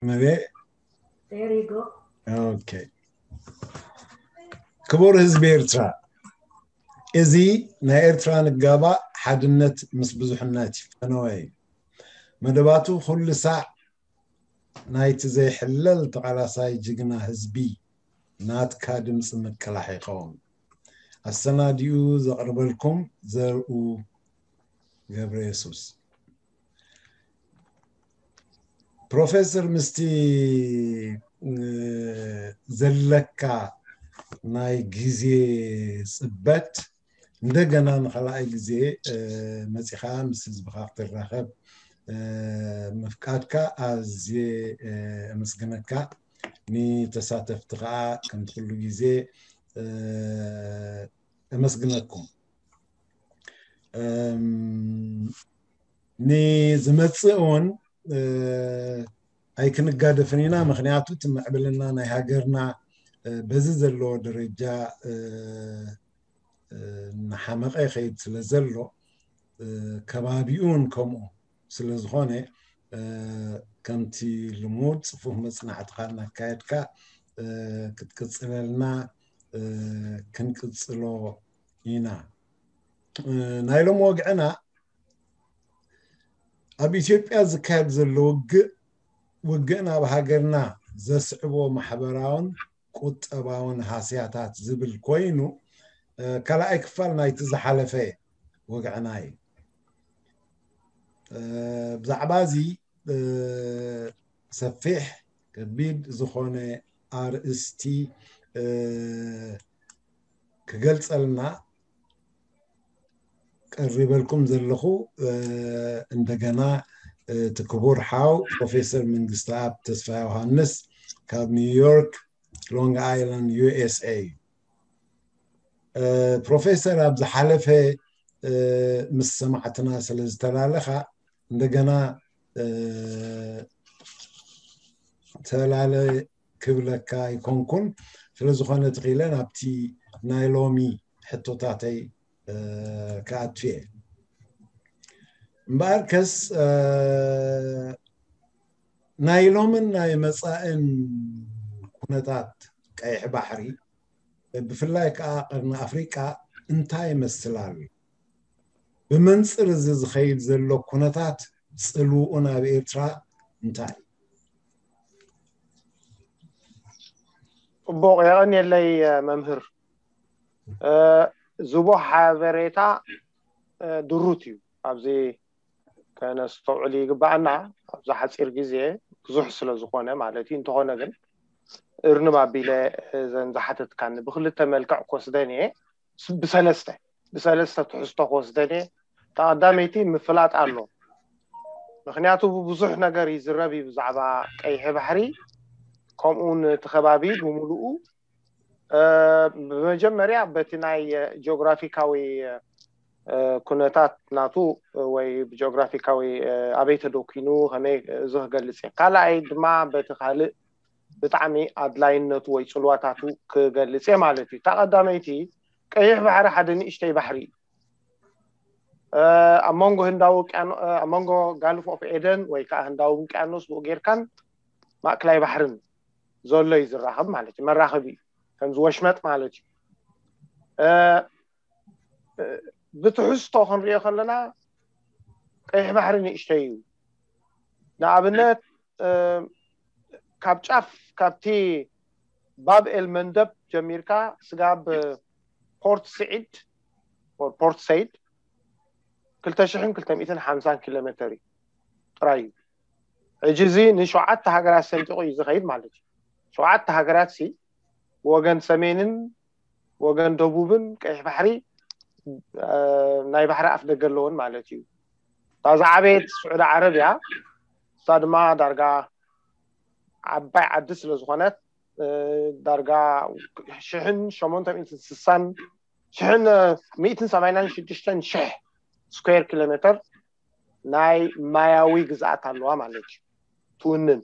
መቤ? There you go. Okay. ክቡር ህዝቢ ኤርትራ፣ እዚ ናይ ኤርትራ ንጋባእ ሓድነት ምስ ብዙሕነት እዩ። ፈነወ እዩ። መደባቱ ኩሉ ሳዕ ናይቲ ዘይሕለል ተቓላሳይ ጅግና ህዝቢ ናትካ ድምፂ ምቅላሕ ይኸውን። ኣሰናዲኡ ዘቕርበልኩም ዘርኡ ገብረ የሱስ። ፕሮፌሰር፣ ምስቲ ዘለካ ናይ ግዜ ጽበት እንደገና ንኻልኣይ ግዜ መጺኻ ምስ ህዝብኻ ክትራኸብ ምፍቃድካ ኣዝየ ኣመስግነካ። ንተሳተፍቲ ከዓ ከምቲ ኩሉ ግዜ ኣመስግነኩም። ንዝመጽእ እውን ኣይክንጋደፍን ኢና። ምክንያቱ እቲ ምዕብልና ናይ ሃገርና በዚ ዘለዎ ደረጃ እናሓመቐ ይኸይድ ስለ ዘሎ፣ ከባቢኡ እውን ከምኡ ስለ ዝኾነ፣ ከምቲ ልሙድ ጽፉፍ መጽናዕትኻ እናካየድካ ክትቅጽለልና ክንቅጽሎ ኢና። ናይ ሎም ወግዕና ኣብ ኢትዮጵያ ዝካየድ ዘሎ ውግእ፣ ውግእን ኣብ ሃገርና ዘስዕቦ ማሕበራውን ቁጠባውን ሃስያታት ዝብል ኮይኑ፣ ካልኣይ ክፋል ናይቲ ዝሓለፈ ወግዕና እዩ። ብዛዕባ እዚ ሰፊሕ ከቢድ ዝኾነ ኣርእስቲ ክገልጸልና ቀሪበልኩም ዘለኹ፣ እንደገና እቲ ክቡር ሓው ፕሮፌሰር መንግስተኣብ ተስፋ ዮሃንስ ካብ ኒውዮርክ ሎንግ ኣይላንድ ዩ ኤስ ኤ። ፕሮፌሰር ኣብ ዝሓለፈ ምስ ሰማዕትና ስለ ዝተላለኻ እንደገና ተላለ ክብለካ ኣይኮንኩን። ስለዝኾነ ትኽኢለ ናብቲ ናይ ሎሚ ሕቶታተይ ክኣቱ እየ። እምበኣርከስ ናይ ሎምን ናይ መጻእን ኩነታት ቀይሕ ባሕሪ፣ ብፍላይ ከዓ ቀርኒ ኣፍሪቃ እንታይ ይመስል ኣሎ? ብመንጽር እዚ ዝኸይድ ዘሎ ኩነታት ጽልውኡ ናብ ኤርትራ እንታይ እዩ? ጽቡቕ፣ የቐንየለይ መምህር። ዝቦ ሓበሬታ ድሩት እዩ። ኣብዚ ከነስተውዕል ይግባኣና። ኣብዚ ሓፂር ግዜ ብዙሕ ስለ ዝኾነ ማለት እዩ። እንተኾነ ግን እርንብ ኣቢለ እዘን ዝሓተትካኒ ብክልተ መልክዕ ክወስደን እየ። ብሰለስተ ብሰለስተ ትሕዝቶ ክወስደን እየ። ተቐዳመይቲ ምፍላጥ ኣሎ። ምክንያቱ ብብዙሕ ነገር ይዝረብ እዩ ብዛዕባ ቀይሕ ባሕሪ፣ ከምኡ እውን እቲ ከባቢ ብምሉኡ። ብመጀመርያ በቲ ናይ ጂኦግራፊካዊ ኩነታት ናቱ ወይ ብጂኦግራፊካዊ ኣበይ ተደኪኑ ከመይ፣ እዚ ክገልፅ እየ። ካልኣይ ድማ በቲ ካልእ ብጣዕሚ ኣድላይነቱ ወይ ፅልዋታቱ ክገልፅ እየ ማለት እዩ። እታ ቀዳመይቲ ቀይሕ ባሕሪ ሓደ ንእሽተይ ባሕሪ እዩ። ኣብ መንጎ ህንዳዊ ውቅያኖ ኣብ መንጎ ጋልፍ ኦፍ ኤደን ወይ ከዓ ህንዳዊ ውቅያኖስ ብኡ ጌርካን ማእክላይ ባሕርን ዘሎ እዩ ዝራኸብ ማለት እዩ። መራኸቢ እዩ፣ ከምዚ ወሽመጥ ማለት እዩ። ብትሕዝቶ ክንሪኦ ከለና ቀይሕ ባሕሪ ንእሽተይ እዩ። ንኣብነት ካብ ጫፍ ካብቲ ባብ ኤል መንደብ ጀሚርካ ስጋብ ፖርት ስዒድ ፖርት ሰይድ ክልተ ሽሕን ክልተ ሚእትን ሓምሳን ኪሎ ሜተር እዩ ጥራይ እዩ። ሕጂ እዚ ንሸውዓተ ሃገራት ሰንጢቑ እዩ ዝኸይድ ማለት እዩ። ሸውዓተ ሃገራት ሲ ወገን ሰሜንን ወገን ደቡብን ቀይሕ ባሕሪ ናይ ባሕሪ ኣፍ ደገ ኣለዎን ማለት እዩ። እታ ዝዓበየት ስዑዲ ዓረብ እያ። እሳ ድማ ዳርጋ ዓባይ ዓዲ ስለ ዝኾነት ዳርጋ ሽሕን ሸሞንተ ሚእትን ስሳን ሽሕን ሚእትን ሰማንያን ሽዱሽተን ሽሕ ስኩዌር ኪሎ ሜተር ናይ ማያዊ ግዝኣት ኣለዋ ማለት እዩ። ትውንን።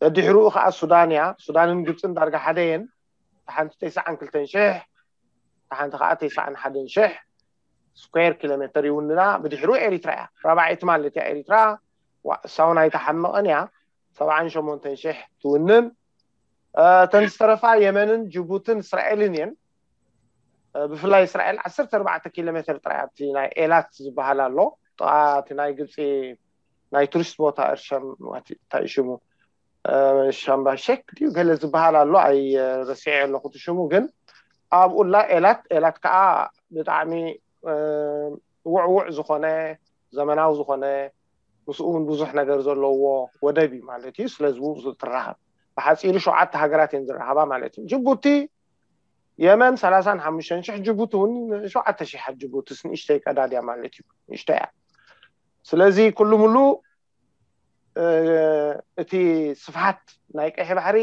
ደድሕሪኡ ከዓ ሱዳን እያ። ሱዳንን ግብፅን ዳርጋ ሓደ እየን። ሓንቲ ተስዓን ክልተን ሽሕ፣ ሓንቲ ከዓ ተስዓን ሓደን ሽሕ ስኩዌር ኪሎ ሜተር ይውንና። ብድሕሪኡ ኤሪትራ እያ ራብዓይቲ ማለት እያ። ኤሪትራ ሳውን ኣይተሓመቐን እያ። ሰብዓን ሸሞንተን ሽሕ ትውንን። እተን ዝተረፋ የመንን ጅቡትን እስራኤልን እየን። ብፍላይ እስራኤል ዓሰርተ ኣርባዕተ ኪሎ ሜትር ጥራይ ኣብቲ ናይ ኤላት ዝበሃል ኣሎ፣ ጥቓ እቲ ናይ ግብፂ ናይ ቱሪስት ቦታ እርሸም እንታይ ሽሙ፣ ሻምባ ሼክ ድዩ ገለ ዝበሃል ኣሎ፣ ኣይረሲዐ ኣለኹ እቲ ሽሙ። ግን ኣብኡላ ኤላት ኤላት ከዓ ብጣዕሚ ውዕውዕ ዝኾነ፣ ዘመናዊ ዝኾነ፣ ምስኡ እውን ብዙሕ ነገር ዘለዎ ወደብ እዩ ማለት እዩ። ስለዚ ብኡ ትራኸብ። ብሓፂሩ ሸውዓተ ሃገራት እየን ዝራኸባ ማለት እዩ። ጅቡቲ፣ የመን ሰላሳን ሓሙሽተን ሽሕ፣ ጅቡቲ እውን ሸውዓተ ሽሕ፣ ጅቡቲስ ንእሽተይ ቀዳድያ ማለት እዩ፣ ንእሽተይ እያ። ስለዚ ኩሉ ሙሉ እቲ ስፍሓት ናይ ቀይሕ ባሕሪ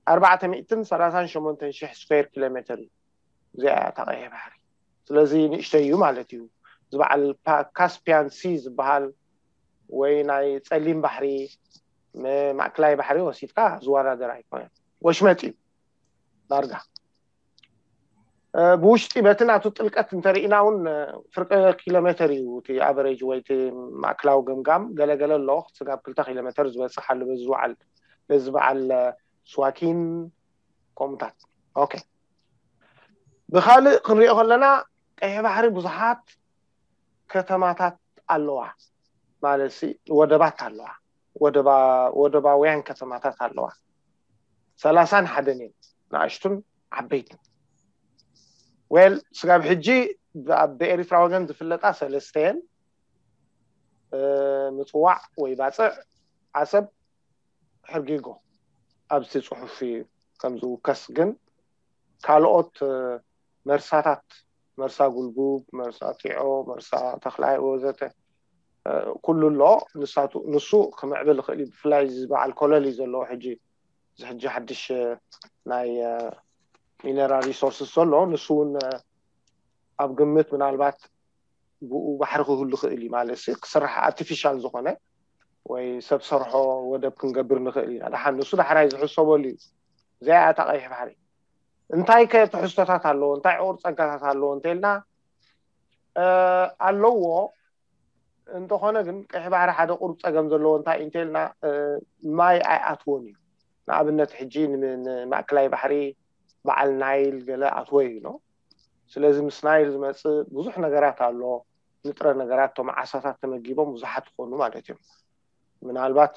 ኣርባዕተ ሚእትን ሰላሳን ሸሞንተን ሽሕ ስኩዌር ኪሎ ሜትር እዩ። እዚኣ እታ ቀይሕ ባሕሪ። ስለዚ ንእሽተይ እዩ ማለት እዩ። ዝበዓል ካስፒያን ሲ ዝበሃል ወይ ናይ ፀሊም ባሕሪ፣ ማእክላይ ባሕሪ ወሲድካ ዝወዳደር ኣይኮነን። ወሽመጥ እዩ ዳርጋ። ብውሽጢ በቲ ናቱ ጥልቀት እንተርኢና እውን ፍርቂ ኪሎ ሜትር እዩ እቲ ኣቨሬጅ ወይ እቲ ማእክላዊ ገምጋም። ገለገለ ኣሎ ስጋብ ክልተ ኪሎ ሜትር ዝበፅሕ ኣሎ በዚ ዝበዓል በዚ በዓል ስዋኪን ከምኡታት። ኦኬ፣ ብካልእ ክንሪኦ ከለና ቀይሕ ባሕሪ ብዙሓት ከተማታት ኣለዋ ማለት ሲ ወደባት ኣለዋ፣ ወደባውያን ከተማታት ኣለዋ። ሰላሳን ሓደን እየን፣ ንኣሽቱን ዓበይትን። ዌል ስጋብ ሕጂ ኣብ ኤሪትራ ወገን ዝፍለጣ ሰለስተ እየን፣ ምፅዋዕ ወይ ባፅዕ፣ ዓሰብ፣ ሕርጊጎ። ኣብዚ ፅሑፍ ከም ዝውከስ ግን ካልኦት መርሳታት፣ መርሳ ጉልጉብ፣ መርሳ ጢዖ፣ መርሳ ተኽላይ ወዘተ ኩሉ ኣሎ። ንሱ ክምዕብል ይኽእል እዩ። ብፍላይ እዚ በዓል ኮለል እዩ ዘለዎ ሕጂ፣ እዚ ሕጂ ሓድሽ ናይ ሚነራል ሪሶርስስ ዘሎ፣ ንሱ እውን ኣብ ግምት ምናልባት ብኡ ባሕሪ ክህሉ ይኽእል እዩ ማለት ሲ ክስራሕ ኣርቲፊሻል ዝኾነ ወይ ሰብ ሰርሖ ወደብ ክንገብር ንኽእል ኢና። ደሓን ንሱ ዳሕራይ ዝሕሰበሉ እዩ። እዚኣ እያ እታ ቀይሕ ባሕሪ። እንታይ ከ ትሕዝቶታት ኣለዎ፣ እንታይ ዕቑር ፀጋታት ኣለዎ እንተልና ኣለዎ። እንተኾነ ግን ቀይሕ ባሕሪ ሓደ ቁሩብ ፀገም ዘለዎ እንታይ እንተልና ማይ ኣይኣትዎን እዩ። ንኣብነት ሕጂ ንማእከላይ ባሕሪ በዓል ናይል ገለ ኣትወ እዩ። ስለዚ ምስ ናይል ዝመፅእ ብዙሕ ነገራት ኣሎ። ንጥረ ነገራት እቶም ዓሳታት ተመጊቦም ብዙሓት ይኾኑ ማለት እዮም። ምናልባት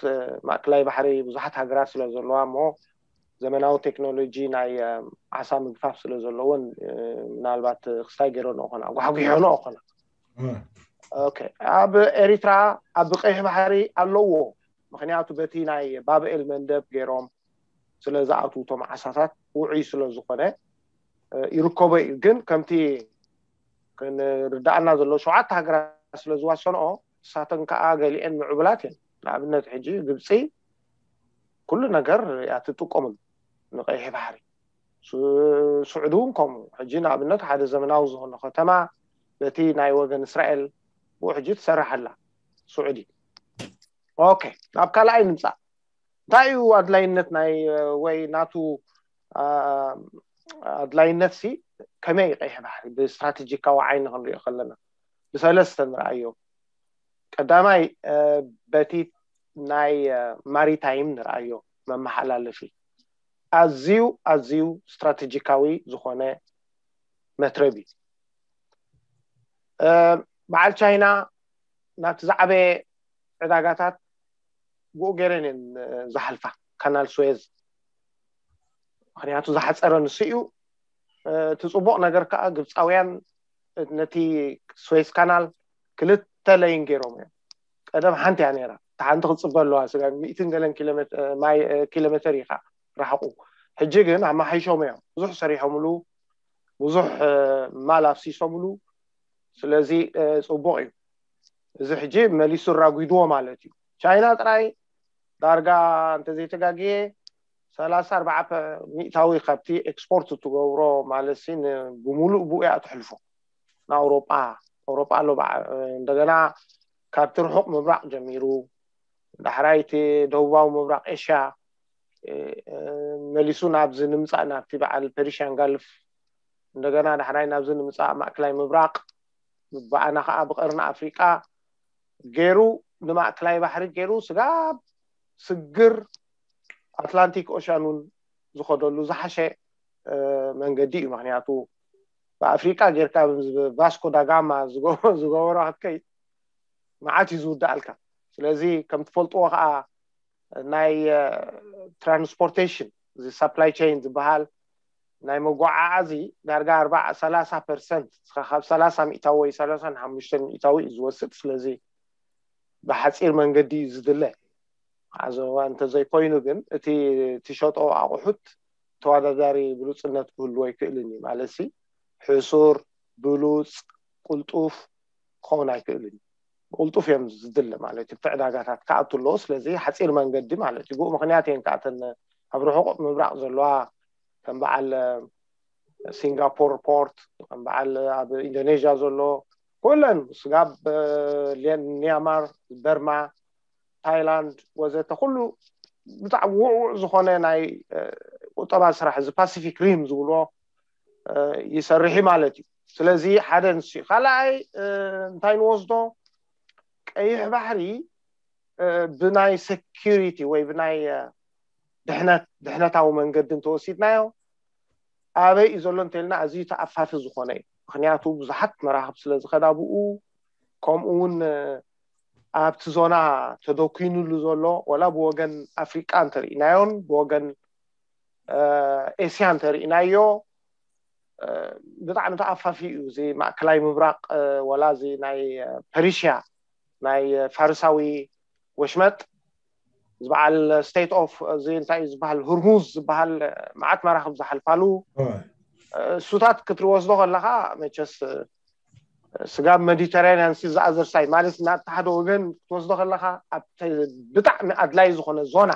ማእከላይ ባሕሪ ብዙሓት ሃገራት ስለ ዘለዋ እሞ ዘመናዊ ቴክኖሎጂ ናይ ዓሳ ምግፋፍ ስለ ዘለዎን ምናልባት ክስታይ ገይረንኦ ኾና ኣጓሕጒሖንኦ ኾና። ኣብ ኤሪትራ ኣብ ቀይሕ ባሕሪ ኣለዎ። ምክንያቱ በቲ ናይ ባብኤል መንደብ ገይሮም ስለ ዝኣትዉ እቶም ዓሳታት ውዑይ ስለ ዝኾነ ይርከቦ እዩ። ግን ከምቲ ክንርዳእና ዘሎ ሸውዓተ ሃገራት ስለ ዝዋሰንኦ ንሳተን ከዓ ገሊአን ምዕቡላት እየን። ንኣብነት ሕጂ ግብፂ ኩሉ ነገር እያ ትጥቀመሉ ንቀይሕ ባሕሪ። ስዑዲ እውን ከምኡ። ሕጂ ንኣብነት ሓደ ዘመናዊ ዝኾነ ከተማ በቲ ናይ ወገን እስራኤል ብኡ ሕጂ ትሰርሕ ኣላ ስዑዲ። ኦኬ፣ ናብ ካልኣይ ንምፃእ። እንታይ እዩ ኣድላይነት ናይ ወይ ናቱ ኣድላይነት ሲ ከመይ ቀይሕ ባሕሪ ብስትራቴጂካዊ ዓይኒ ክንሪኦ ከለና ብሰለስተ ንርኣዮ። ቀዳማይ በቲ ናይ ማሪታይም ንርኣዮ፣ መመሓላለፊ ኣዝዩ ኣዝዩ ስትራቴጂካዊ ዝኾነ መትረብ እዩ። በዓል ቻይና ናብቲ ዝዓበየ ዕዳጋታት ብኡ ገይረን እየን ዝሓልፋ፣ ካናል ስዌዝ። ምክንያቱ ዝሓፀረ ንሱ እዩ። እቲ ፅቡቕ ነገር ከዓ ግብፃውያን ነቲ ስዌዝ ካናል ክልተ ለይን ገይሮም እዮም። ቀደም ሓንቲ እያ ነይራ፣ እታ ሓንቲ ክትፅበ ኣለዋ። ስጋ ሚእትን ገለን ኪሎ ሜትር እዩ ከዓ ርሕቁ። ሕጂ ግን ኣመሓይሾም እዮም፣ ብዙሕ ሰሪሖምሉ፣ ብዙሕ ማል ኣፍሲሶምሉ። ስለዚ ፅቡቕ እዩ። እዚ ሕጂ መሊሱ ኣራጒድዎ ማለት እዩ። ቻይና ጥራይ ዳርጋ እንተዘይተጋግየ ሰላሳ ኣርባዕተ ሚእታዊ ካብቲ ኤክስፖርት እትገብሮ ማለት ሲ ብሙሉእ ብኡ እያ ትሕልፎ ንኣውሮጳ። ኣውሮጳ ኣሎ እንደገና ካብቲ ርሑቕ ምብራቕ ጀሚሩ ዳሕራይ እቲ ደቡባዊ ምብራቕ ኤሽያ መሊሱ ናብዚ ንምፃእ ናብቲ በዓል ፐርሽያን ጋልፍ እንደገና ዳሕራይ ናብዚ ንምፃእ ማእከላይ ምብራቕ ብኣና ከዓ ብቀርኒ ኣፍሪቃ ገይሩ ንማእከላይ ባሕሪ ገይሩ ስጋብ ስግር ኣትላንቲክ ኦሽያን እውን ዝኸደሉ ዝሓሸ መንገዲ እዩ። ምክንያቱ ብኣፍሪቃ ጌርካ ቫስኮ ዳጋማ ዝገበሮ ክትከይድ መዓት እዩ ዝውዳእልካ። ስለዚ ከም ትፈልጥዎ ከዓ ናይ ትራንስፖርቴሽን፣ እዚ ሳፕላይ ቸይን ዝበሃል ናይ መጓዓዓዚ ዳርጋ ኣርባ ሰላሳ ፐርሰንት፣ ካብ ሰላሳ ሚእታዊ ወይ ሰላሳ ሓሙሽተ ሚእታዊ እዩ ዝወስድ። ስለዚ ብሓፂር መንገዲ እዩ ዝድለ። ኣዘዋ እንተዘይኮይኑ ግን እቲ ትሸጦ ኣቑሑት ተወዳዳሪ ብሉፅነት ክህልዎ ኣይክእልን እዩ። ማለት ሕሱር፣ ብሉፅ፣ ቅልጡፍ ክኸውን ኣይክእልን እዩ። ብቅልጡፍ እዮም ዝድለ ማለት እዩ። ዕዳጋታት ክኣቱ ኣለዎ። ስለዚ ሓፂር መንገዲ ማለት እዩ። ብኡ ምክንያት እየን ከኣተን ኣብ ርሑቕ ምብራቕ ዘለዋ ከም በዓል ሲንጋፖር ፖርት፣ ከም በዓል ኣብ ኢንዶኔዥያ ዘሎ ኩለን ስጋብ ኒያማር፣ በርማ፣ ታይላንድ ወዘተ ኩሉ ብጣዕሚ ውዕውዕ ዝኾነ ናይ ቁጠባ ስራሕ እዚ ፓሲፊክ ሪም ዝብልዎ ይሰርሕ ማለት እዩ። ስለዚ ሓደ ንሱ እዩ። ካልኣይ እንታይ ንወስዶ፣ ቀይሕ ባሕሪ ብናይ ሴኪሪቲ ወይ ብናይ ድሕነት ድሕነታዊ መንገዲ እንተወሲድናዮ ኣበይ እዩ ዘሎ እንተልና ኣዝዩ ተኣፋፊ ዝኾነ እዩ። ምክንያቱ ብዙሓት መራኽብ ስለ ዝኸዳ ብኡ፣ ከምኡ እውን ኣብቲ ዞና ተደኪኑሉ ዘሎ ወላ ብወገን ኣፍሪቃ እንተርኢናዮን ብወገን ኤስያ እንተርኢናዮ ብጣዕሚ ተኣፋፊ እዩ። እዚ ማእከላይ ምብራቅ ወላ እዚ ናይ ፐሪሽያ ናይ ፋርሳዊ ወሽመጥ ዝበዓል ስቴት ኦፍ እዚ እንታይ እዩ ዝበሃል፣ ሁርሙዝ ዝበሃል መዓት መራኽብ ዝሓልፋሉ እሱታት ክትወስዶ ከለካ መቸስ ስጋብ ሜዲተራኒያን ሲ ዝኣዘር ሳይድ ማለት ናብቲ ሓደ ወገን ክትወስዶ ከለካ ኣብ ብጣዕሚ ኣድላይ ዝኾነ ዞና፣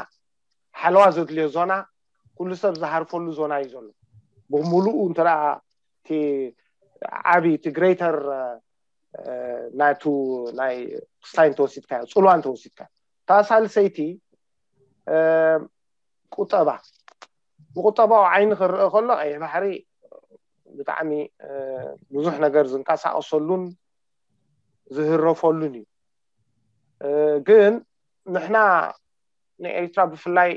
ሓለዋ ዘድልዮ ዞና፣ ኩሉ ሰብ ዝሃርፈሉ ዞና እዩ ዘሎ። ብምሉኡ እንተ እቲ ዓቢ እቲ ግሬተር ናቱ ናይ ክስታይ እንተወሲድካዮ፣ ፅልዋ እንተወሲድካዮ፣ እታ ሳልሰይቲ ቁጠባ፣ ብቁጠባዊ ዓይኒ ክረአ ከሎ ቀይሕ ባሕሪ ብጣዕሚ ብዙሕ ነገር ዝንቀሳቀሰሉን ዝህረፈሉን እዩ። ግን ንሕና ንኤርትራ ብፍላይ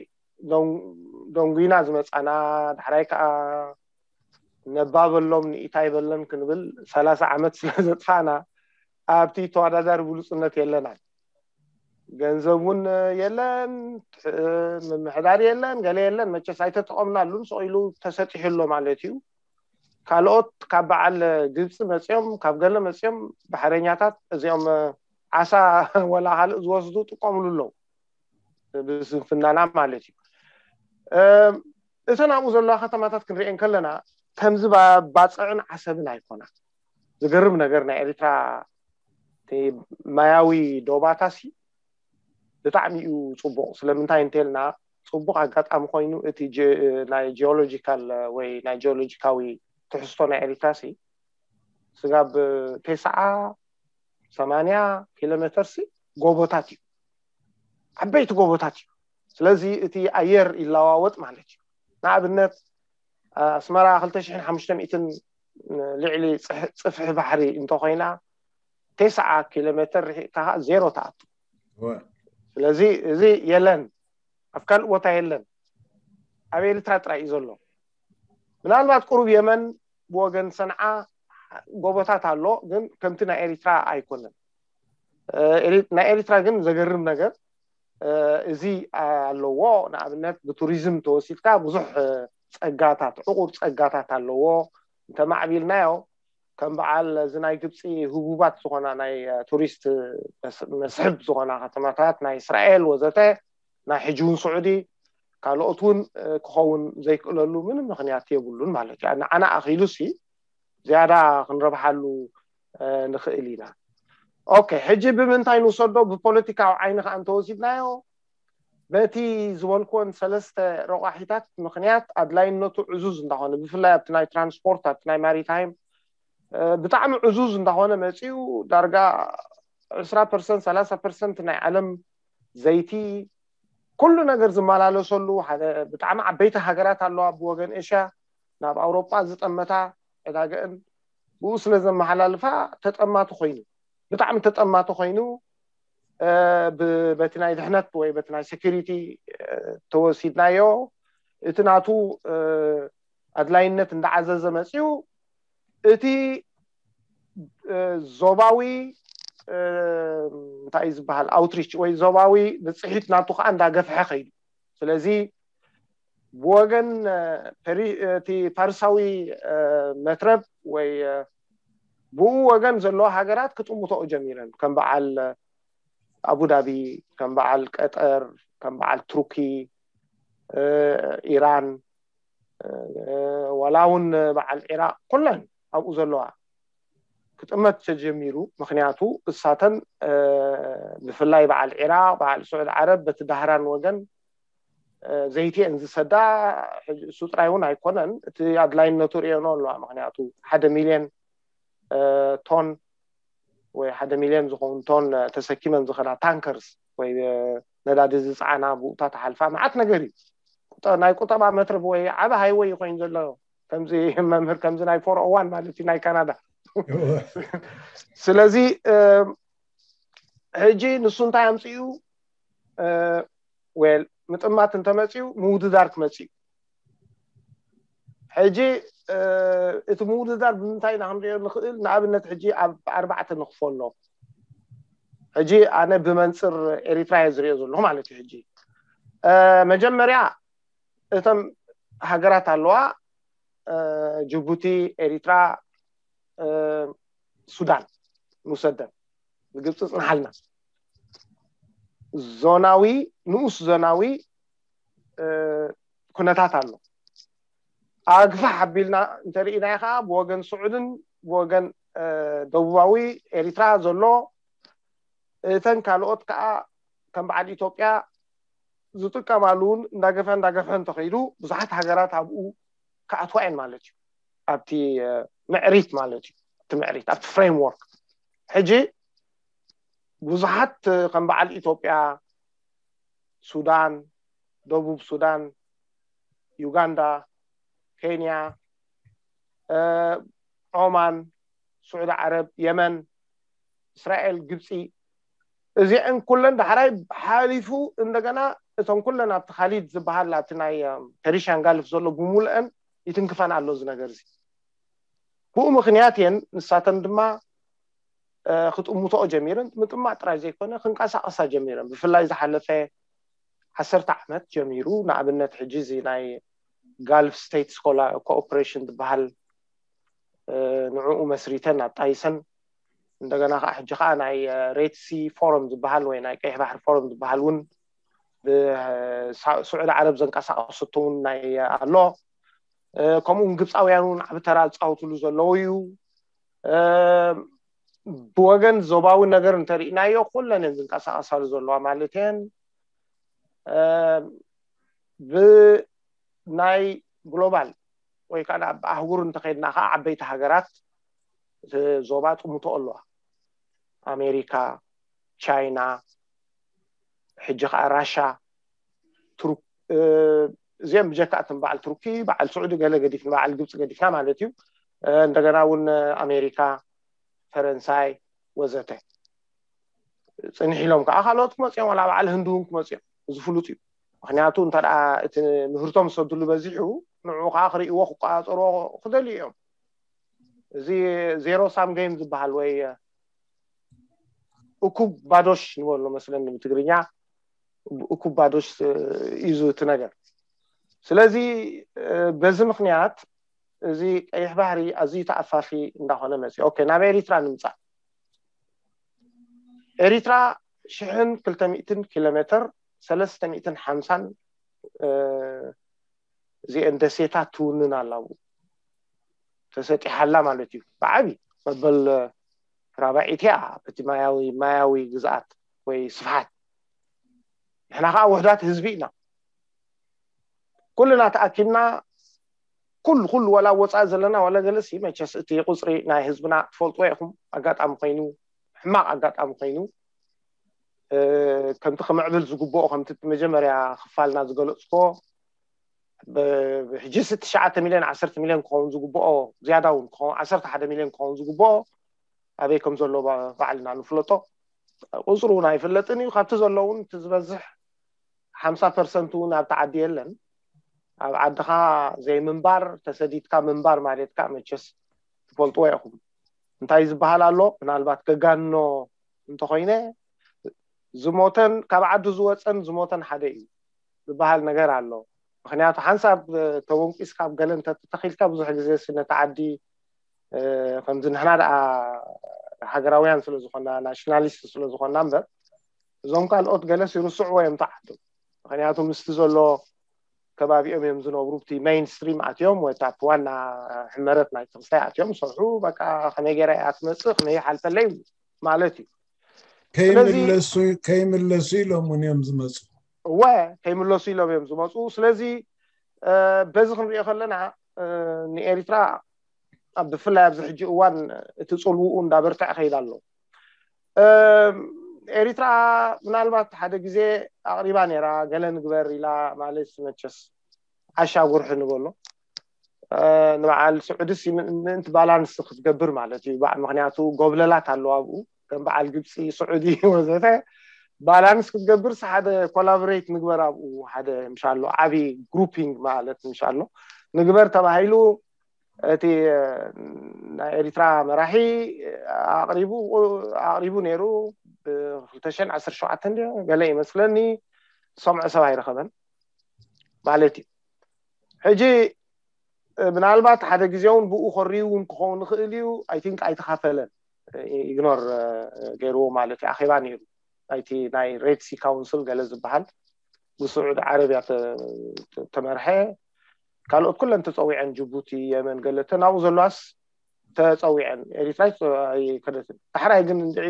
ደንጉና ዝመፃና፣ ዳሕራይ ከዓ ነባበሎም ንኢታይ በለን ክንብል ሰላሳ ዓመት ስለ ዘጥፋእና ኣብቲ ተወዳዳሪ ብሉፅነት የለናን። ገንዘብ እውን የለን፣ ምምሕዳር የለን፣ ገለ የለን። መቸስ ኣይተጠቐምናሉን፣ ስቕ ኢሉ ተሰጢሑ ኣሎ ማለት እዩ። ካልኦት ካብ በዓል ግብፂ መፂኦም፣ ካብ ገለ መፂኦም ባሕረኛታት እዚኦም ዓሳ ወላ ካልእ ዝወስዱ ጥቀምሉ ኣለዉ ብስንፍናና ማለት እዩ። እተን ኣብኡ ዘለዋ ከተማታት ክንሪኤን ከለና ከምዚ ባፅዕን ዓሰብን ኣይኮና። ዝገርም ነገር ናይ ኤርትራ ማያዊ ዶባታሲ ብጣዕሚ እዩ ፅቡቕ። ስለምንታይ እንተልና ፅቡቕ ኣጋጣሚ ኮይኑ እቲ ናይ ጂኦሎጂካል ወይ ናይ ጂኦሎጂካዊ ትሕዝቶ ናይ ኤርትራሲ ስጋብ ተስዓ ሰማንያ ኪሎ ሜተር ሲ ጎቦታት እዩ፣ ዓበይቲ ጎቦታት እዩ። ስለዚ እቲ ኣየር ይለዋወጥ ማለት እዩ። ንኣብነት ኣስመራ ክልተ ሽሕን ሓሙሽተ ሚእትን ልዕሊ ፅፍሒ ባሕሪ እንተኮይና ተስዓ ኪሎ ሜተር ርሒቕካ ከዓ ዜሮ ተኣቱ። ስለዚ እዚ የለን፣ ኣብ ካልእ ቦታ የለን፣ ኣብ ኤርትራ ጥራይ እዩ ዘሎ። ምናልባት ቁሩብ የመን ብወገን ሰንዓ ጎቦታት ኣሎ፣ ግን ከምቲ ናይ ኤሪትራ ኣይኮነን። ናይ ኤሪትራ ግን ዘገርም ነገር እዚ ኣለዎ። ንኣብነት ብቱሪዝም ተወሲድካ ብዙሕ ፀጋታት፣ ዕቑር ፀጋታት ኣለዎ። እንተማዕቢልናዮ ከም በዓል እዚ ናይ ግብፂ ህቡባት ዝኾና ናይ ቱሪስት መስሕብ ዝኾና ከተማታት ናይ እስራኤል ወዘተ፣ ናይ ሕጂ እውን ስዑዲ፣ ካልኦት እውን ክኸውን ዘይክእለሉ ምንም ምክንያት የብሉን ማለት እዩ። ንዓና ኣኺሉ ሲ ዝያዳ ክንረብሓሉ ንኽእል ኢና። ኦኬ፣ ሕጂ ብምንታይ ንውሰዶ? ብፖለቲካዊ ዓይኒ ከዓ እንተወሲድናዮ በቲ ዝበልኩወን ሰለስተ ረቋሒታት ምክንያት ኣድላይነቱ ዕዙዝ እንዳኾነ፣ ብፍላይ ኣብቲ ናይ ትራንስፖርት፣ ኣብቲ ናይ ማሪታይም ብጣዕሚ ዕዙዝ እንዳኾነ መፂኡ፣ ዳርጋ ዕስራ ፐርሰንት ሰላሳ ፐርሰንት ናይ ዓለም ዘይቲ ኩሉ ነገር ዝመላለሰሉ ሓደ ብጣዕሚ ዓበይቲ ሃገራት ኣለዋ ብወገን ኤሽያ ናብ ኣውሮጳ ዝጠመታ ዕዳገእን ብኡ ስለ ዘመሓላልፋ ተጠማቲ ኮይኑ፣ ብጣዕሚ ተጠማቲ ኮይኑ በቲ ናይ ድሕነት ወይ በቲ ናይ ሴኩሪቲ ተወሲድናዮ፣ እቲ ናቱ ኣድላይነት እንዳዓዘዘ መፅኡ፣ እቲ ዞባዊ እንታይ ዝበሃል ኣውትሪች ወይ ዞባዊ ብፅሒት ናቱ ከዓ እንዳገፍሐ ከይዱ። ስለዚ ብወገን እቲ ፓርሳዊ መትረብ ወይ ብኡ ወገን ዘለዎ ሃገራት ክጥምተኦ ጀሚረን፣ ከም በዓል ኣቡዳቢ፣ ከም በዓል ቀጠር፣ ከም በዓል ቱርኪ፣ ኢራን፣ ዋላ እውን በዓል ዒራቅ፣ ኩለን ኣብኡ ዘለዋ ክጥመት ተጀሚሩ። ምክንያቱ እሳተን ብፍላይ በዓል ዒራቅ፣ በዓል ስዑድ ዓረብ በቲ ዳህራን ወገን ዘይቲ እየን ዝሰዳ። እሱ ጥራይ እውን ኣይኮነን፣ እቲ ኣድላይነቱ ርእየኖ ኣለዋ። ምክንያቱ ሓደ ሚልዮን ቶን ወይ ሓደ ሚልዮን ዝኸውን ቶን ተሰኪመን ዝኸዳ ታንከርስ ወይ ነዳዲ ዝፀዓና ብኡታ ተሓልፋ መዓት ነገር እዩ። ናይ ቁጠባ መትረብ ወይ ዓበ ሃይወይ ኮይኑ ዘሎ ከምዚ መምህር ከምዚ ናይ ፎር ኦ ዋን ማለት እዩ ናይ ካናዳ። ስለዚ ሕጂ ንሱ እንታይ ኣምፅኡ? ዌል ምጥማት እንተመፅኡ ምውድዳር ክመፅእ እዩ። ሕጂ እቲ ምውድዳር ብምንታይ ኢና ክንሪኦ ንኽእል? ንኣብነት ሕጂ ኣብ ኣርባዕተ ንኽፈሎ። ሕጂ ኣነ ብመንፅር ኤሪትራ እየ ዝሪኦ ዘለኹ ማለት እዩ። ሕጂ መጀመርያ እተን ሃገራት ኣለዋ፣ ጅቡቲ፣ ኤሪትራ፣ ሱዳን ንውሰደን፣ ንግብፂ ፅንሓልና። ዞናዊ ንኡስ ዞናዊ ኩነታት ኣሎ። ኣግፋሕ ኣቢልና እንተርኢናዮ ከዓ ብወገን ስዑድን ብወገን ደቡባዊ ኤሪትራ ዘሎ፣ እተን ካልኦት ከዓ ከም በዓል ኢትዮጵያ ዝጥቀማሉ እውን እንዳገፈ እንዳገፈ እንተኸይዱ ብዙሓት ሃገራት ኣብኡ ክኣትዋ እየን ማለት እዩ። ኣብቲ ምዕሪት ማለት እዩ። ኣብቲ ምዕሪት ኣብቲ ፍሬምወርክ ሕጂ ብዙሓት ከም በዓል ኢትዮጵያ፣ ሱዳን፣ ደቡብ ሱዳን፣ ዩጋንዳ፣ ኬንያ፣ ኦማን፣ ስዑዲ ዓረብ፣ የመን፣ እስራኤል፣ ግብፂ፣ እዚአን ኩለን ዳሕራይ ሓሊፉ እንደገና እቶም ኩለን ኣብቲ ካሊድ ዝበሃል ኣብቲ ናይ ፐርሽያን ጋልፍ ዘሎ ብምሉአን ይትንክፈን ኣሎ እዚ ነገር እዚ። ብኡ ምክንያት እየን ንሳተን ድማ ክጥምቶኦ ጀሚረን። ምጥማት ጥራይ ዘይኮነ ክንቀሳቀሳ ጀሚረን። ብፍላይ ዝሓለፈ ዓሰርተ ዓመት ጀሚሩ ንኣብነት ሕጂ እዚ ናይ ጋልፍ ስቴትስ ኮኦፕሬሽን ዝበሃል ንዕኡ መስሪተን ኣጣይሰን። እንደገና ከዓ ሕጂ ከዓ ናይ ሬድ ሲ ፎረም ዝበሃል ወይ ናይ ቀይሕ ባሕሪ ፎረም ዝበሃል እውን ብስዑዲ ዓረብ ዘንቀሳቀሰቶ እውን ናይ ኣሎ። ከምኡ እውን ግብፃውያን እውን ዓብ ተራ ዝፃወትሉ ዘለዉ እዩ። ብወገን ዞባዊ ነገር እንተርኢናዮ ኩለን እየን ዝንቀሳቀሳሉ ዘለዋ ማለት እየን። ብናይ ግሎባል ወይ ከዓ ኣብ ኣህጉር እንተኸይድና ከዓ ዓበይቲ ሃገራት ዞባ ጥምቶ ኣለዋ። ኣሜሪካ፣ ቻይና፣ ሕጂ ከዓ ራሻ፣ ቱርክ፣ እዚኦም ብጀካ እቶም በዓል ቱርኪ፣ በዓል ስዑዲ ገለ ገዲፍና፣ በዓል ግብፂ ገዲፍና ማለት እዩ። እንደገና እውን ኣሜሪካ፣ ፈረንሳይ ወዘተ። ፅንሕ ኢሎም ከዓ ካልኦት ክመፅኦም ዋላ በዓል ህንዲ እውን ክመፅኦም፣ እዚ ፍሉጥ እዩ። ምክንያቱ እንተ እቲ ምህርቶም ዝሰድሉ በዚሑ ንዕኡ ከዓ ክርእይዎ ክቆፃፀርዎ ክደልዩ እዮም። እዚ ዜሮ ሳም ገይም ዝበሃል ወይ እኩብ ባዶሽ ንበሎ መስለኒ ብትግርኛ፣ እኩብ ባዶሽ እዩ እቲ ነገር። ስለዚ በዚ ምክንያት እዚ ቀይሕ ባህሪ ኣዝዩ ተኣፋፊ እንዳኾነ መፅእ። ኦኬ፣ ናብ ኤሪትራ ንምፃእ። ኤሪትራ ሽሕን ክልተ ሚእትን ኪሎ ሜትር፣ ሰለስተ ሚእትን ሓምሳን እዚአን ደሴታት ትውንን ኣላ፣ ተሰጢሓላ ማለት እዩ። ብዓቢ መበል ራብዒት እያ በቲ ማያዊ ማያዊ ግዝኣት ወይ ስፍሓት። ንሕና ከዓ ውሕዳት ህዝቢ ኢና። ኩልና ተኣኪብና ኩሉ ኩሉ ዋላ ወፃኢ ዘለና ዋላ ገለሲ መቸስ እቲ ቁፅሪ ናይ ህዝብና ትፈልጥዎ ኢኹም። ኣጋጣሚ ኮይኑ ሕማቕ ኣጋጣሚ ኮይኑ ከምቲ ክምዕብል ዝግብኦ ከምቲ መጀመርያ ክፋልና ዝገለፅኮ ሕጂ ስ ትሽዓተ ሚልዮን ዓሰርተ ሚልዮን ክኸውን ዝግብኦ ዝያዳ እውን ክኸውን ዓሰርተ ሓደ ሚልዮን ክኸውን ዝግብኦ ኣበይ ከም ዘሎ ባዕልና ንፍለጦ። ቁፅሩ እውን ኣይፍለጥን እዩ። ካብቲ ዘሎ እውን እቲ ዝበዝሕ ሓምሳ ፐርሰንት እውን ኣብቲ ዓዲ የለን። ኣብ ዓድኻ ዘይምንባር፣ ተሰዲድካ ምንባር ማለት ከዓ መቸስ ትፈልጥዎ ኢኹም። እንታይ ዝበሃል ኣሎ? ምናልባት ከጋንኖ እንተኾይነ፣ ዝሞተን ካብ ዓዱ ዝወፀን ዝሞተን ሓደ እዩ ዝበሃል ነገር ኣሎ። ምክንያቱ ሓንሳብ ተወንቂስካ ኣብ ገለ እንተተተኺልካ፣ ብዙሕ ግዜ ነቲ ዓዲ ከምዚ ንሕና ደኣ ሃገራውያን ስለ ዝኾና፣ ናሽናሊስት ስለ ዝኾና እምበር፣ እዞም ካልኦት ገለስ ይርስዕዎ እዮም ተዓቱ። ምክንያቱ ምስቲ ዘሎ ከባቢኦም እዮም ዝነብሩ። እቲ ሜይንስትሪም ኣትዮም ወይ እቲ ዋና ሕመረት ናይ ትኽስታይ ኣትዮም ሰርሑ። በቃ ከመይ ገይረ እያ ትመፅእ፣ ከመይ ይሓልፈለይ ማለት እዩ። ስለዚ ከይምለሱ ኢሎም እውን እዮም ዝመፁ። እወ፣ ከይምለሱ ኢሎም እዮም ዝመፁ። ስለዚ በዚ ክንሪኦ ከለና ንኤሪትራ ብፍላይ ኣብዚ ሕጂ እዋን እቲ ፅልውኡ እንዳበርትዐ ከይድ ኣሎ። ኤሪትራ ምናልባት ሓደ ግዜ ኣቕሪባ ነይራ፣ ገለ ንግበር ኢላ፣ ማለት መቸስ ዓሻ ጉርሒ ንበሎ። ንበዓል ስዑድስ ምእንቲ ባላንስ ክትገብር ማለት እዩ። ምክንያቱ ጎብለላት ኣለዋ ኣብኡ፣ ከም በዓል ግብፂ፣ ስዑዲ ወዘተ። ባላንስ ክትገብርስ ሓደ ኮላቦሬት ንግበር ኣብኡ፣ ሓደ ምሻሎ ዓብዪ ግሩፒንግ ማለት ምሻሎ ንግበር ተባሂሉ እቲ ናይ ኤሪትራ መራሒ ኣቕሪቡ ኣቕሪቡ ነይሩ። ብ2017 ገለ ይመስለኒ፣ ዝሰምዖ ሰብ ኣይረኸበን ማለት እዩ። ሕጂ ምናልባት ሓደ ግዜ እውን ብኡ ኮሪዩ እውን ክኸውን ይኽእል እዩ። ኣይ ቲንክ ኣይተኻፈለን፣ ኢግኖር ገይርዎ ማለት እዩ። ኣኼባ ነይሩ ናይቲ ናይ ሬድ ሲ ካውንስል ገለ ዝበሃል ብስዑድ ዓረብያ ተመርሐ። ካልኦት ኩለን ተፀዊዐን፣ ጅቡቲ፣ የመን፣ ገለተ ናብኡ ዘለዋስ ተፀዊዐን። ኤሪትራ ኣይከደትን። ዳሕራይ ግን እንድዒ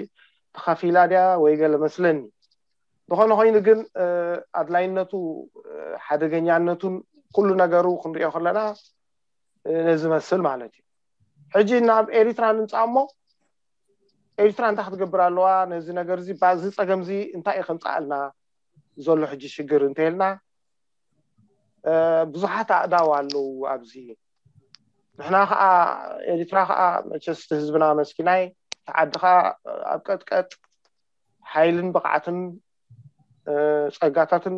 ተኻፊላ ድያ ወይ ገለ መስለኒ። ዝኾነ ኮይኑ ግን ኣድላይነቱ፣ ሓደገኛነቱን ኩሉ ነገሩ ክንሪኦ ከለና ነዚ መስል ማለት እዩ። ሕጂ ናብ ኤሪትራ ንምፃእ እሞ፣ ኤሪትራ እንታይ ክትገብር ኣለዋ? ነዚ ነገር እዚ፣ ባዚ ፀገም እዚ እንታይ እዩ ከምፃኣልና ዘሎ? ሕጂ ሽግር እንተልና ብዙሓት ኣእዳው ኣለዉ ኣብዚ። ንሕና ከዓ፣ ኤሪትራ ከዓ መቸስ ህዝብና መስኪናይ፣ ተዓዲ ከዓ ኣብ ቀጥቀጥ ሓይልን ብቕዓትን ጸጋታትን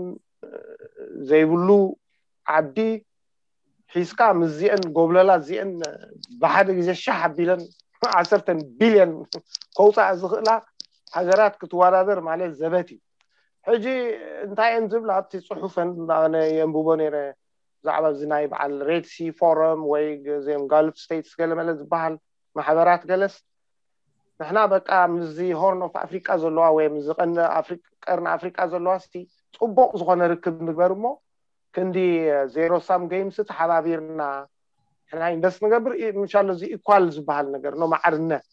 ዘይብሉ ዓዲ ሒዝካ ምስዚአን ጎብለላት እዚአን ብሓደ ግዜ ሻሕ ኣቢለን ዓሰርተ ቢልዮን ከውፃእ ዝኽእላ ሃገራት ክትወዳደር ማለት ዘበት እዩ። ሕጂ እንታይ እየን ዝብላ ኣብቲ ፅሑፈን፣ ኣነ የንብቦ ነይረ፣ ብዛዕባ እዚ ናይ በዓል ሬድ ሲ ፎረም ወይ እዚኦም ጋልፍ ስቴትስ ገለመለ ዝበሃል ማሕበራት ገለስ፣ ንሕና በቃ ምስዚ ሆርን ኦፍ ኣፍሪቃ ዘለዋ ወይ ምስዚ ቀርኒ ኣፍሪቃ ዘለዋ ሲ ፅቡቅ ዝኾነ ርክብ ንግበር እሞ ክንዲ ዜሮ ሳም ጌምስ ተሓባቢርና ንሕና ኢንቨስት ንገብር። ምሻሎ እዚ ኢኳል ዝበሃል ነገር ኖ፣ ማዕርነት፣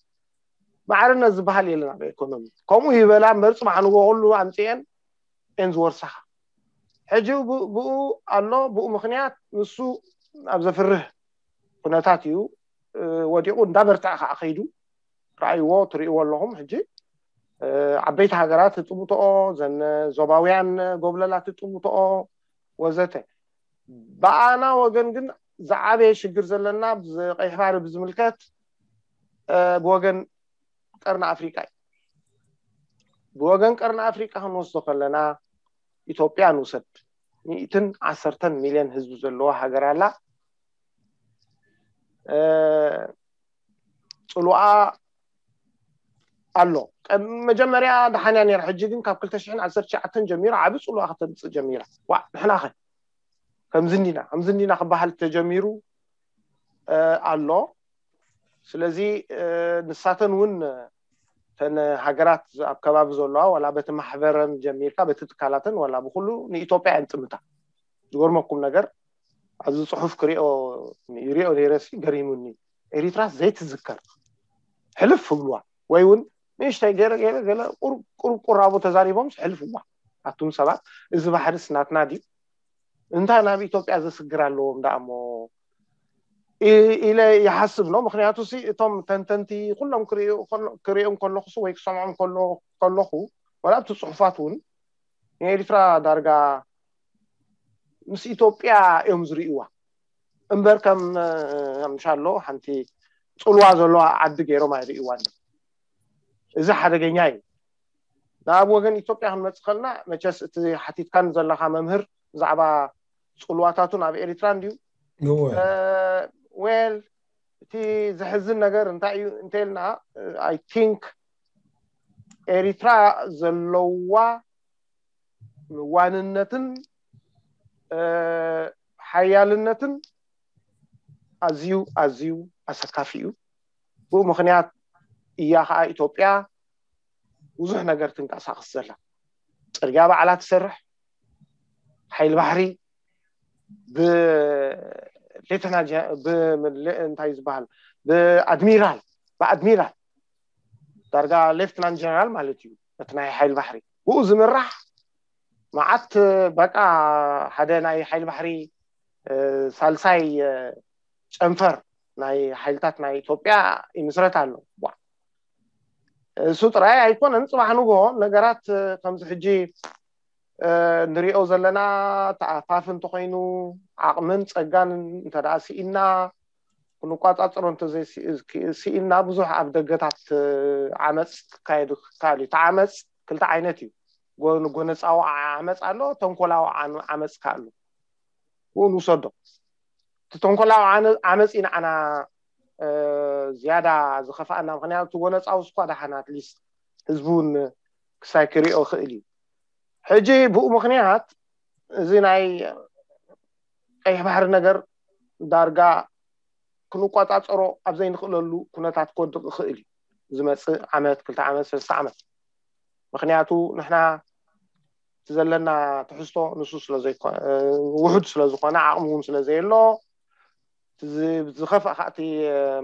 ማዕርነት ዝበሃል የለን ኣብ ኤኮኖሚ። ከምኡ ይበላ እምበር፣ ጽባሕ ንጎ ኩሉ ኣምጽኤን ኤን ዝወርሳኻ። ሕጂ ብኡ ኣሎ፣ ብኡ ምኽንያት ንሱ ኣብ ዘፍርህ ኩነታት እዩ ወዲቑ። እንዳበርትዐ ከዓ ከይዱ፣ ረኣይዎ፣ ትርእይዎ ኣለኹም። ሕጂ ዓበይቲ ሃገራት ትጥምትኦ፣ ዘን ዞባውያን ጎብለላት ትጥምትኦ ወዘተ። ብኣና ወገን ግን ዝዓበየ ሽግር ዘለና ቀይሕ ባሕሪ ብዝምልከት ብወገን ቀርኒ ኣፍሪቃ እዩ። ብወገን ቀርኒ ኣፍሪቃ ክንወስዶ ከለና፣ ኢትዮጵያ ንውሰድ። ሚእትን ዓሰርተን ሚልዮን ህዝቢ ዘለዎ ሃገር ኣላ። ጽሉኣ ኣሎ። መጀመርያ ደሓንያ ነይራ፣ ሕጂ ግን ካብ ክልተ ሽሕን ዓሰርተ ትሽዓተን ጀሚሩ ዓቢ ጽሉኣ ከተምጽእ ጀሚራ። ዋ፣ ንሕናኸ ከምዚ እንዲና፣ ከምዚ እንዲና ክበሃል ተጀሚሩ ኣሎ። ስለዚ ንሳተን እውን፣ ተን ሃገራት ኣብ ከባቢ ዘለዋ፣ ዋላ በቲ ማሕበረን ጀሚርካ፣ በቲ ትካላተን፣ ዋላ ብኩሉ ንኢትዮጵያ እየን ጥምታ። ዝገርመኩም ነገር፣ ኣብዚ ጽሑፍ ክሪኦ ይሪኦ ነይረ ሲ፣ ገሪሙኒ። ኤሪትራ ዘይትዝከር፣ ሕልፍ ይብልዋ፣ ወይ እውን ንእሽተይ ገለ ገለ ገለ ቁሩብ ቁራቦ ተዛሪቦም ሕልፍዋ። ኣቱም ሰባት፣ እዚ ባሕርስ ናትና ድዩ? እንታይ ናብ ኢትዮጵያ ዘስግር ኣለዎም ደኣ እሞ ኢለ ይሓስብ ነው። ምክንያቱ ሲ እቶም ተንተንቲ ኩሎም ክሪኦም ከለኹ ወይ ክሰምዖም ከለኹ፣ ዋላ ኣብቲ ጽሑፋት እውን ንኤሪትራ ዳርጋ ምስ ኢትዮጵያ እዮም ዝርእይዋ እምበር ከም ምሻሎ ሓንቲ ጽልዋ ዘለዋ ዓዲ ገይሮም ኣይርእይዋን። እዚ ሓደገኛ እዩ። ናብ ወገን ኢትዮጵያ ክንመፅእ ከለና፣ መቸስ እቲ ሓቲትካን ዘለካ መምህር ብዛዕባ ፅልዋታቱን ኣብ ኤሪትራ እንድዩ። እወ ዌል፣ እቲ ዘሕዝን ነገር እንታይ እዩ እንተልና፣ I think ኤሪትራ ዘለዋ ዋንነትን ሓያልነትን ኣዝዩ ኣዝዩ ኣሰካፊ እዩ። ብኡ ምክንያት እያ ከዓ ኢትዮጵያ ብዙሕ ነገር ትንቀሳቀስ ዘላ። ፅርግያ ባዕላ ትሰርሕ፣ ሓይል ባሕሪ ብሌተና እንታይ ዝበሃል፣ ብኣድሚራል ብኣድሚራል ዳርጋ ሌፍትናንት ጀነራል ማለት እዩ። እቲ ናይ ሓይል ባሕሪ ብኡ ዝምራሕ መዓት፣ በቃ ሓደ ናይ ሓይል ባሕሪ ሳልሳይ ጨንፈር ናይ ሓይልታት ናይ ኢትዮጵያ ይምስረት ኣሎ። እሱ ጥራይ ኣይኮነን፣ ፅባሕ ንግሆ ነገራት ከምዚ ሕጂ ንሪኦ ዘለና ተኣፋፍ እንተኮይኑ፣ ዓቕምን ፀጋን እንተ ደኣ ስኢና፣ ክንቋፃፀሮ እንተዘይስኢና፣ ብዙሕ ኣብ ደገታት ዓመፅ ክካየድ ክካል እዩ። እቲ ዓመፅ ክልተ ዓይነት እዩ። ጎነፃዊ ዓመፅ ኣሎ፣ ተንኮላዊ ዓመፅ ከ ኣሎ። ብኡ ንውሰዶ። እቲ ተንኮላዊ ዓመፅ እዩ ንዓና ዝያዳ ዝኸፍኣና። ምክንያቱ እቲ ጎነፃዊ ስኳ ደሓን ኣትሊስት ህዝቢ እውን ክሳይ ክሪኦ ክእል እዩ። ሕጂ ብኡ ምክንያት እዚ ናይ ቀይሕ ባሕሪ ነገር ዳርጋ ክንቋፃፀሮ ኣብ ዘይንክእለሉ ኩነታት ክወድቕ ይኽእል እዩ ዝመፅእ ዓመት፣ ክልተ ዓመት፣ ሰለስተ ዓመት። ምክንያቱ ንሕና እቲ ዘለና ትሕዝቶ ንሱ ስለዘይኮነ፣ ውሑድ ስለዝኮነ፣ ዓቕሚ እውን ስለዘየሎ፣ ዝኸፍእ ከዓ እቲ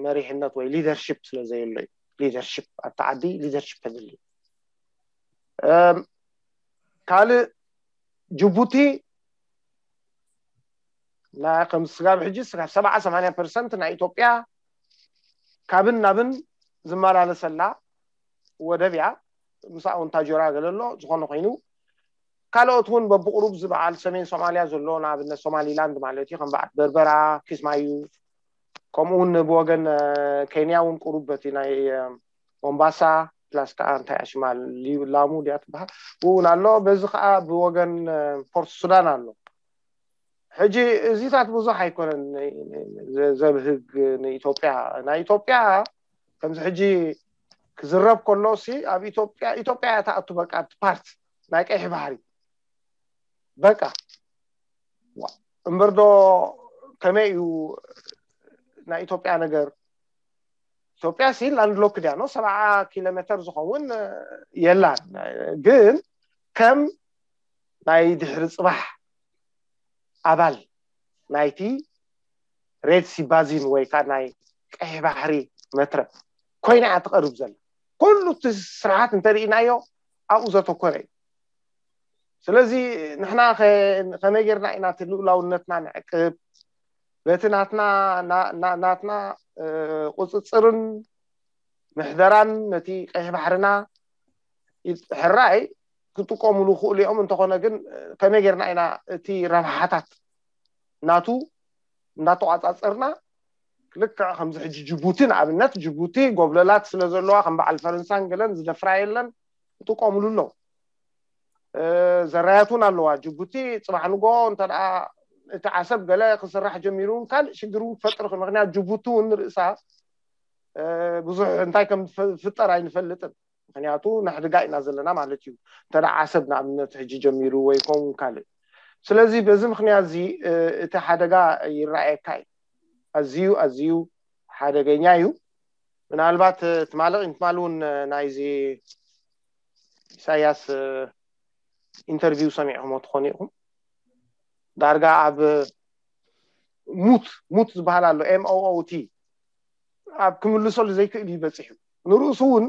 መሪሕነት ወይ ሊደርሽፕ ስለዘየሎ እዩ። ሊደርሽፕ ኣብቲ ዓዲ ሊደርሽፕ ተድሊ። ካልእ ጅቡቲ ከም ስጋብ ሕጂ ስጋብ ሰብዓ ሰማንያ ፐርሰንት ናይ ኢትዮጵያ ካብን ናብን ዝመላለሰላ ወደብ እያ። ምስኣ እውን ታጆራ ገለ ኣሎ። ዝኾነ ኮይኑ ካልኦት እውን በብቁሩብ ዝበዓል ሰሜን ሶማልያ ዘሎ ንኣብነት ሶማሊላንድ ማለት እዩ፣ ከም በዓል በርበራ፣ ኪስማዩ፣ ከምኡ እውን ብወገን ኬንያ እውን ቁሩብ በቲ ናይ ሞምባሳ ፕላስ ከዓ እንታይ ኣሽማ ላሙ ድያ ትበሃል እውን ኣሎ። በዚ ከዓ ብወገን ፖርት ሱዳን ኣሎ። ሕጂ እዚታት ብዙሕ ኣይኮነን ዘብህግ ንኢትዮጵያ። ናይ ኢትዮጵያ ከምዚ ሕጂ ክዝረብ ከሎ ሲ ኣብ ኢትዮጵያ ኢትዮጵያ እያ ትኣቱ በቃ ኣብቲ ፓርት ናይ ቀይሕ ባሕሪ በቃ። እምበር ዶ ከመይ እዩ ናይ ኢትዮጵያ ነገር? ኢትዮጵያ ሲ ላንድ ሎክ ድያ ነው ሰብዓ ኪሎ ሜትር ዝኸውን የላን። ግን ከም ናይ ድሕሪ ፅባሕ ኣባል ናይቲ ሬድ ሲ ባዚን ወይ ከዓ ናይ ቀይሕ ባሕሪ መትረብ ኮይና እያ ትቐርብ ዘላ። ኩሉ እቲ ስርዓት እንተርኢናዮ ኣብኡ ዘተኮረ እዩ። ስለዚ ንሕና ከመይ ጌርና ኢና እቲ ልኡላውነትና ንዕቅብ? በቲ ናትና ናትና ቁፅፅርን ምሕደራን ነቲ ቀይሕ ባሕርና ሕራይ ክጥቀሙሉ ክእሉ እዮም። እንተኾነ ግን ከመይ ጌርና ኢና እቲ ረብሓታት ናቱ እንዳተቋፃፀርና፣ ልክዕ ከምዚ ሕጂ ጅቡቲ ንኣብነት፣ ጅቡቲ ጎብለላት ስለ ዘለዋ ከም በዓል ፈረንሳን ገለን ዝደፍራ የለን፣ ክጥቀሙሉ ኣለዉ። ዘራያት እውን ኣለዋ ጅቡቲ። ፅባሕ ንጎ እንተ ደኣ እቲ ዓሰብ ገለ ክስራሕ ጀሚሩ እውን ካልእ ሽግር እውን ክፈጥር ይኽእል። ምክንያቱ ጅቡቲ እውን ንርእሳ ብዙሕ እንታይ ከም ዝፍጠር ኣይንፈልጥን። ምክንያቱ ነሕድጋ ኢና ዘለና ማለት እዩ። እንተ ደኣ ዓሰብ ንኣብነት ሕጂ ጀሚሩ ወይ ከምኡ ካልእ። ስለዚ በዚ ምክንያት እዚ እቲ ሓደጋ ይረኣየካ እዩ። ኣዝዩ ኣዝዩ ሓደገኛ እዩ። ምናልባት ትማሊ ቅድሚ ትማሊ እውን ናይዚ ኢሳያስ ኢንተርቪው ሰሚዕኹሞ ትኾኑ ኢኹም። ዳርጋ ኣብ ሙት ሙት ዝበሃል ኣሎ፣ ኤም ኦ ኦ ቲ፣ ኣብ ክምልሰሉ ዘይክእል እዩ በፂሑ። ንርእሱ እውን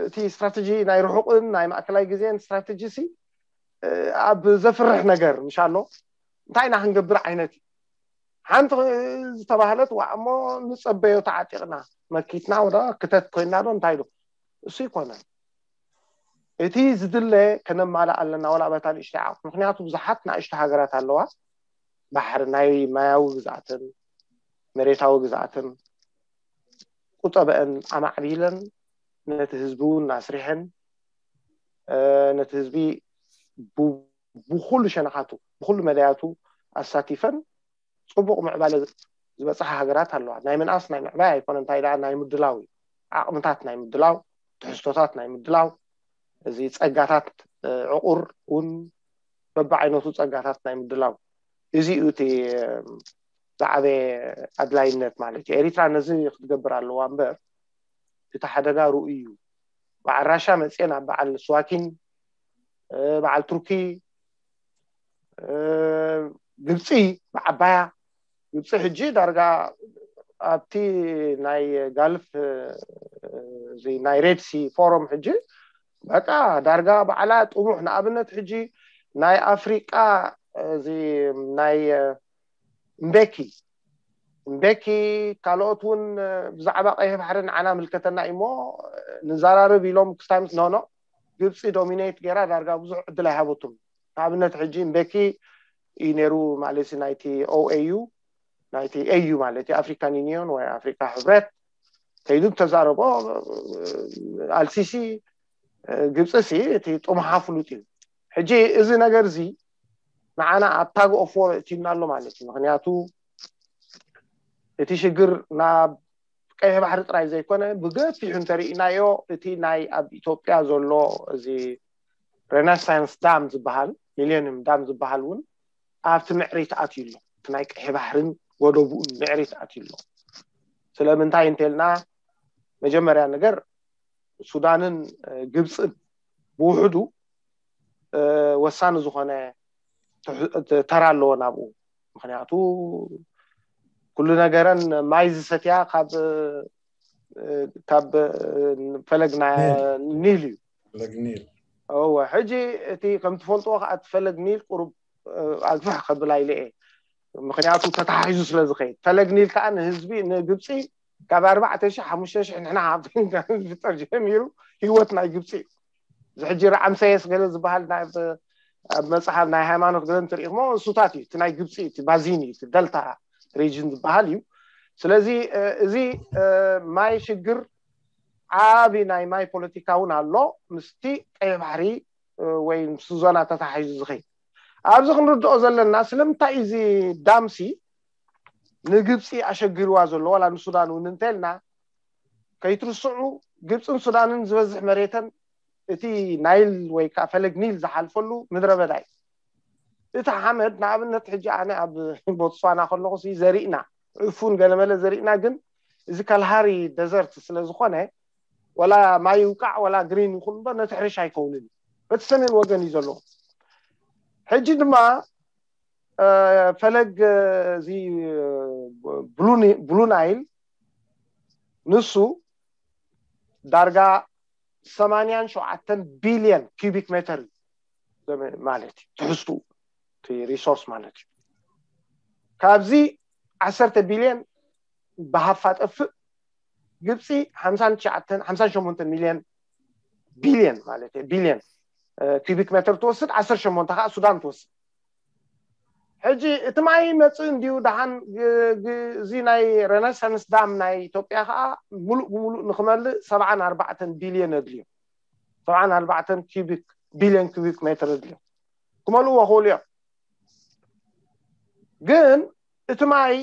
እቲ ስትራተጂ ናይ ርሑቕን ናይ ማእከላይ ግዜን ስትራተጂ ሲ ኣብ ዘፍርሕ ነገር ምሽ ኣሎ። እንታይ ኢና ክንገብር ዓይነት እዩ? ሓንቲ ዝተባህለት ዋ እሞ ንፀበዮ ተዓጢቕና መኪትና ወደ ክተት ኮይና ዶ እንታይ ዶ? እሱ ይኮነን። እቲ ዝድለ ከነማልእ ኣለና፣ ዋላ በታ ንእሽተይ ዓቕሚ። ምክንያቱ ብዙሓት ንኣሽቱ ሃገራት ኣለዋ፣ ባሕሪ ናይ ማያዊ ግዝኣትን መሬታዊ ግዝኣትን ቁጠበአን ኣማዕቢለን ነቲ ህዝቢ እውን ኣስሪሐን ነቲ ህዝቢ ብኩሉ ሸነኻቱ ብኩሉ መዳያቱ ኣሳቲፈን ፅቡቕ ምዕባለ ዝበፅሓ ሃገራት ኣለዋ። ናይ ምንኣስ ናይ ምዕባይ ኣይኮነ፣ እንታይ ደኣ ናይ ምድላው እዩ። ዓቕምታት ናይ ምድላው፣ ትሕዝቶታት ናይ ምድላው፣ እዚ ፀጋታት ዕቑር እውን በብዓይነቱ ፀጋታት ናይ ምድላው፣ እዚ እዩ እቲ ዝዓበየ ኣድላይነት ማለት እዩ። ኤሪትራ ነዚ ክትገብር ኣለዋ እምበር እቲ ሓደጋ ርኡይ እዩ። በዓል ራሻ መፅኤ ናብ በዓል ስዋኪን በዓል ቱርኪ ግብፂ ብዓባያ ግብፂ ሕጂ ዳርጋ ኣብቲ ናይ ጋልፍ ናይ ሬድሲ ፎረም ሕጂ በቃ ዳርጋ ባዕላ ጥሙሕ ንኣብነት ሕጂ ናይ ኣፍሪቃ እዚ ናይ እምቤኪ እምቤኪ ካልኦት እውን ብዛዕባ ቀይሕ ባሕሪ ንዓና ምልከተና እሞ ንዘራርብ ኢሎም ክስታምስ ኖኖ ግብፂ ዶሚኔት ገይራ ዳርጋ ብዙሕ ዕድል ኣይሃበቱም። ንኣብነት ሕጂ እምቤኪ እዩ ነይሩ ማለት ናይቲ ኦኤዩ ናይቲ ኤዩ ማለት ኣፍሪካን ዩኒዮን ወይ ኣፍሪካ ሕብረት ከይዱ ተዛረቦ ኣልሲሲ ግብፂ ሲ እቲ ጥሙሓ ፍሉጥ እዩ። ሕጂ እዚ ነገር እዚ ንዓና ኣብ ታግ ኦፍ ዎር እቲና ኣሎ ማለት እዩ። ምክንያቱ እቲ ሽግር ናብ ቀይሕ ባሕሪ ጥራይ ዘይኮነ ብገፊሑ እንተርኢናዮ እቲ ናይ ኣብ ኢትዮጵያ ዘሎ እዚ ሬናሳንስ ዳም ዝበሃል ሚሌኒየም ዳም ዝበሃል እውን ኣብቲ ምዕሪት ኣትዩ ኣሎ። እቲ ናይ ቀይሕ ባሕርን ወደቡን ምዕሪት ኣትዩ ኣሎ። ስለምንታይ እንተልና መጀመርያ ነገር ሱዳንን ግብፅን ብውሕዱ ወሳኒ ዝኾነ ተራ ኣለዎ ናብኡ። ምክንያቱ ኩሉ ነገረን ማይ ዝሰትያ ካብ ካብ ፈለግ ኒል እዩ። እወ ሕጂ እቲ ከም ትፈልጥዎ ከዓ እቲ ፈለግ ኒል ቁሩብ ኣግፍሕ ከብል ኣይልአ። ምክንያቱ ተተሓሒዙ ስለ ዝኸይድ ፈለግ ኒል ከዓ ንህዝቢ ንግብፂ ካብ ኣርባዕተ ሺሕ ሓሙሽተ ሺሕ ንሕና ሃብቲ ዝፍጠር ጀሚሩ ህይወት ናይ ግብፂ እዩ። እዚ ሕጂ ረዓምሰየስ ገለ ዝበሃል ኣብ መፅሓፍ ናይ ሃይማኖት ገለ እንትርኢኹሞ እሱታት እዩ እቲ ናይ ግብፂ እቲ ባዚን እዩ እቲ ደልታ ሪጅን ዝበሃል እዩ። ስለዚ እዚ ማይ ሽግር ዓቢ ናይ ማይ ፖለቲካ እውን ኣሎ ምስቲ ቀይ ባሕሪ ወይ ምስ ዞና ተታሒዙ ዝኸይድ። ኣብዚ ክንርድኦ ዘለና ስለምንታይ እዚ ዳምሲ ንግብፂ ኣሸጊርዋ ዘሎ ዋላ ንሱዳን እውን እንተልና ከይትርስዑ ግብፅን ሱዳንን ዝበዝሕ መሬተን እቲ ናይል ወይ ከዓ ፈለግ ኒል ዝሓልፈሉ ምድረ በዳ እዩ። እቲ ሓመድ ንኣብነት ሕጂ ኣነ ኣብ ቦትስዋና ከለኹ ዘሪእና ዕፉን ገለመለ ዘሪእና ግን እዚ ካልሃሪ ደዘርት ስለዝኾነ ወላ ማይ ይውቃዕ ወላ ግሪን ይኹን እምበር ነቲ ሕርሻ ኣይከውንን እዩ። በቲ ሰሜን ወገን እዩ ዘለዎ። ሕጂ ድማ ፈለግ እዚ ብሉ ናይል ንሱ ዳርጋ ሰማንያን ሸውዓተን ቢልየን ኪቢክ ሜተር ማለት እዩ ትሕዝቱ ሪሶርስ ማለት እዩ። ካብዚ ዓሰርተ ቢልየን ብሃፋ ጠፍእ ግብፂ ሓምሳን ትሽዓተን ሓምሳን ሸሞንተን ሚልየን ቢልየን ማለት እዩ ቢልየን ኪቢክ ሜተር ትወስድ ዓሰርተ ሸሞንተ ከዓ ሱዳን ትወስድ። ሕጂ እቲ ማይ መፅእ እንዲዩ ደሓን እዚ ናይ ሬነሳንስ ዳም ናይ ኢትዮጵያ ከዓ ሙሉእ ብሙሉእ ንክመልእ ሰብዓን ኣርባዕተን ቢልየን ኣድልዮ ሰብዓን ኣርባዕተን ኪቢክ ቢልየን ኪቢክ ሜትር ኣድልዮ ክመልእዎ ክእሉ እዮም። ግን እቲ ማይ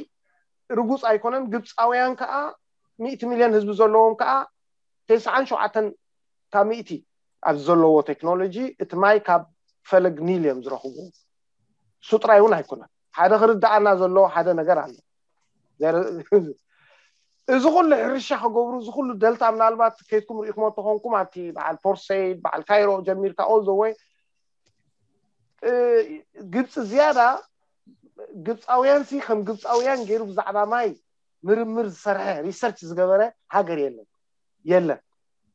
ርጉፅ ኣይኮነን። ግብፃውያን ከዓ ሚእቲ ሚልዮን ህዝቢ ዘለዎም ከዓ ተስዓን ሸውዓተን ካብ ሚእቲ ኣብዚ ዘለዎ ቴክኖሎጂ እቲ ማይ ካብ ፈለግ ኒል እዮም ዝረኽቡ። እሱ ጥራይ እውን ኣይኮነን። ሓደ ክርዳኣና ዘለዎ ሓደ ነገር ኣሎ። እዚ ኩሉ ሕርሻ ክገብሩ እዚ ኩሉ ደልታ ምናልባት ከይድኩም ርኢኹሞ ተኾንኩም ኣብቲ በዓል ፖርት ሰይድ በዓል ካይሮ ጀሚርካ all the way ግብፂ ዝያዳ ግብፃውያን ሲ ከም ግብፃውያን ገይሩ ብዛዕባ ማይ ምርምር ዝሰርሐ ሪሰርች ዝገበረ ሃገር የለን የለን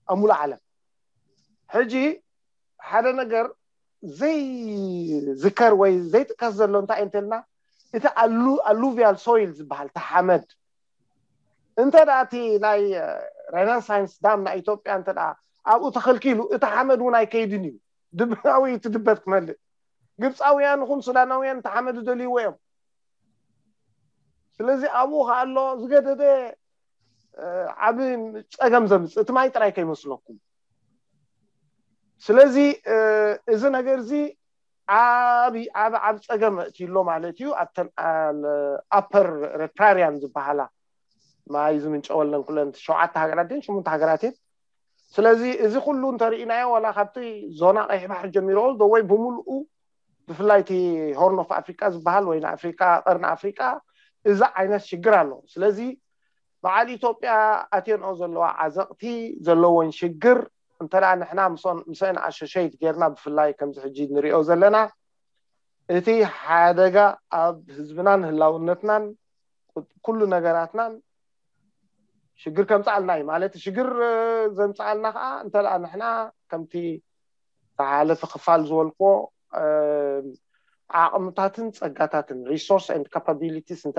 ኣብ ሙሉእ ዓለም። ሕጂ ሓደ ነገር ዘይዝከር ወይ ዘይጥቀስ ዘሎ እንታይ እንተልና እቲ ኣሉቪያል ሶይል ዝበሃል ተሓመድ እንተ እቲ ናይ ሬናሳንስ ዳም ናይ ኢትዮጵያ እንተ ኣብኡ ተኸልኪሉ እቲ ሓመድ እውን ኣይከይድን እዩ። ድብናዊ ትድበት ክመልእ ግብፃውያን ኹን ሱዳናውያን እቲ ሓመድ ደልይዎ እዮም። ስለዚ ኣብኡ ከኣሎ ዝገደደ ዓብ ፀገም ዘምፅእ እቲ ማይ ጥራይ ከይመስለኩም። ስለዚ እዚ ነገር እዚ ዓብ ዓብ ዓብ ፀገም እትሎ ማለት እዩ። ኣብተን ኣፐር ረፕራሪያን ዝበሃላ ማይ ዝምንጨወለን ኩለን ሸውዓተ ሃገራት ን ሽሙንተ ሃገራት እየን። ስለዚ እዚ ኩሉ እንተርኢናዮ ዋላ ካብቲ ዞና ቀይሕ ባሕሪ ጀሚሮ ወይ ብምልኡ ብፍላይ እቲ ሆርን ኦፍ ኣፍሪቃ ዝበሃል ወይ ንኣፍሪቃ ቀርኒ ኣፍሪቃ እዚ ዓይነት ሽግር ኣሎ። ስለዚ በዓል ኢትዮጵያ ኣትየንኦ ዘለዋ ዓዘቕቲ ዘለዎን ሽግር እንተ ንሕና ምስአን ኣሸሸይት ጌርና ብፍላይ ከምዚ ሕጂ ንሪኦ ዘለና እቲ ሓደጋ ኣብ ህዝብናን ህላውነትናን ኩሉ ነገራትናን ሽግር ከምፅኣልና እዩ ማለት ሽግር ዘምፅኣልና ከዓ እንተ ንሕና ከምቲ ዝሓለፈ ክፋል ዝበልክዎ ዓቕምታትን ፀጋታትን resource and capabilities እንተ